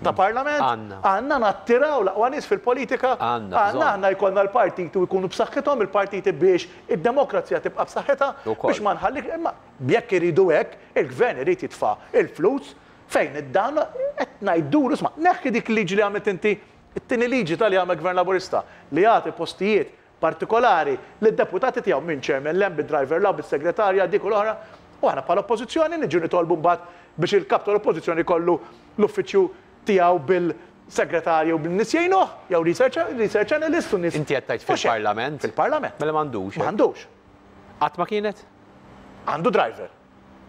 ta' parlament. Għandna. Għandna nattiraw l-aqwa nies fil-politika. Għandna Għandna bżonn. aħna jkollna l-partiti u jkunu b'saħħithom il-partiti biex id-demokrazija tibqa' b'saħħitha Ukoll. biex ma nħallik, imma jekk iridu hekk, il-gvern irid jitfa' il-flus fejn id-dan qed ngħidulu, isma', neħħi dik liġi li għamilt inti, it-tieni liġi tal-li għamel Gvern Laburista li jagħti postijiet partikolari lid-deputati tiegħu minn chairman 'l hemm, bid-driver 'l hawn, bis-segretarja dik u l-oħra. U aħna bħala oppożizzjoni niġu nitolbu mbagħad biex il-kap tal-oppożizzjoni kollu l-uffiċċju tiegħu bil-segretarju u bin-nies jgħinuh, jew research, research analyst u nies. Inti qed tgħid Mhux hekk. fil-Parlament? Fil-Parlament. Mela m'għandux. M'għandux. Qatt ma kienet? Għandu driver.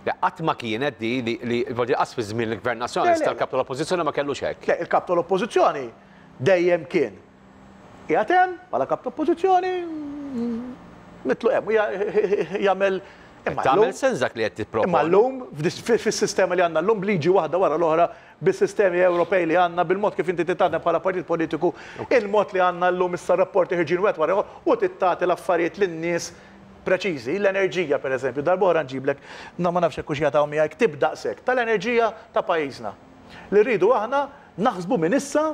Le, qatt ma kienet di li li voglio qas fi żmien il-Gvern Nazzjonalista Le, le, l-kap tal-Oppożizzjoni ma kellux hekk. Le, il-kap tal-oppożizzjoni dejjem kien qiegħed hemm bħala kap tal-oppożizzjoni, mitlu hemm u ja- jagħmel imma Tagħmel llum- sens dak li qed tipproponi. Imma llum, fis-sistema li għandna llum, bliġi waħda wara l-oħra, bis-sistemi Ewropej li għandna, bil-mod kif inti titgħaddem bħala partit politiku, il-mod li għandna llum issa rapporti ħirġin wieħed wara ieħor u tittati l-affarijiet lin-nies preċiżi, l-enerġija per eżempju, darb'oħra nġiblek, na ma nafx hekk hux jagħtaw miegħi ktib daqshekk tal-enerġija ta' pajjiżna. Li rridu aħna naħsbu minn issa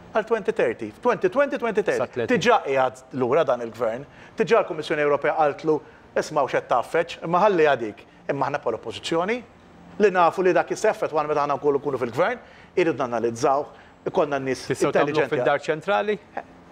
għal elfejn u tletin, elfejn u għoxrin, elfejn u tletin. Sa tletin. Diġà qiegħed lura dan il-gvern, diġà l-Kummissjoni Ewropea qaltlu isma' x'qed tgħaffeġ, imma ħalli għadik. Imma aħna bħala oppożizzjoni li nafu li dak jisseffet għan meta aħna nkunu nkunu fil-gvern, irridu nanalizzaw, ikollna n-nies Tistgħu tagħmlu intelligenti. fid-dar ċentrali?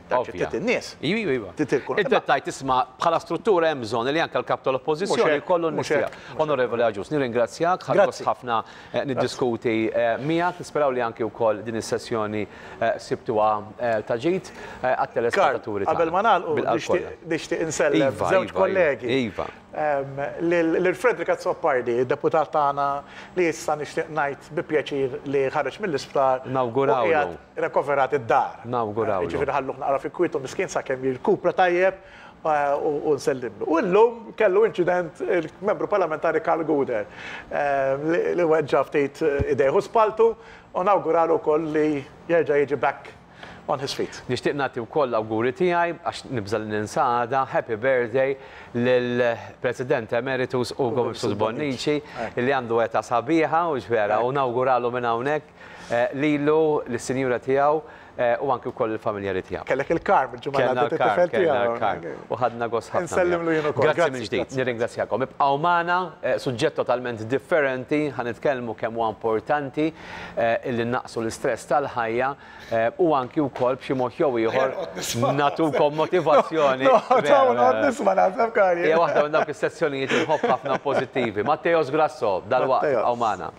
Dar Ovvja. ċentrali in-nies. Iva, iva, iva. Trid ikun- Inti qed tgħid, isma', bħala struttura hemm bżonn li anke l-kap tal-Oppożizzjoni Mhux hekk, jkollu n-nies mhux hekk, tiegħu. Onorevoli Agius, nirringrazzjak, ħadt Grazzi. ħafna eh, niddiskuti eh, miegħek, nisperaw li anke wkoll din is-sessjoni eh, sibtuha eh, ta' ġid eh, għat-telespettaturi Karl, qabel ma nagħlqu Bil-qalb nixtieq kollha. nixtieq insellem Iva, żewġ iva, kollegi. Iva. Em, Lil lil Frederick Azzopardi, deputat tagħna li issa nixtieq ngħid bi pjaċir li ħareġ mill-isptar. Nawgurawlu. u qiegħed rekoverat id-dar. Nawgurawlu. Ġifieri ħalluh naqra fi kwietu miskin sakemm jirkupra tajjeb eh, u u nsellimlu. U llum kellu inċident il-membru parlamentari Karl Gouder em, li li weġġa ftit idejh u spaltu u nawguralu wkoll li jerġa' jiġi back on his feet. Nixtieq nagħti wkoll l-awguri tiegħi, għax nibża li ninsa għada, happy birthday lill-President Emeritus Ugo Mifsud Bonnici li għandu età sabiħa u ġvera u nawguralu minn hawnhekk eh, lilu lis-sinjura tiegħu. u anki wkoll il-familjari tiegħu. Kellek il-Karm il-ġimgħa Kellna l-Karm, kellna l-Karm. U ħadna gost ħafna. Nsellimlu jien ukoll. Grazzi mill-ġdid, nirringrazzjakom. Ibqgħu magħna, suġġett totalment differenti, ħa nitkellmu kemm huwa importanti illi naqsu l-istress tal-ħajja u anki wkoll b'xi mod jew ieħor natukom motivazzjoni. Nisma' naħseb Karl. Hija waħda minn dawk is-sezzjonijiet inħobb ħafna pożittivi. Matteos Grasso, dalwaqt ibqgħu magħna.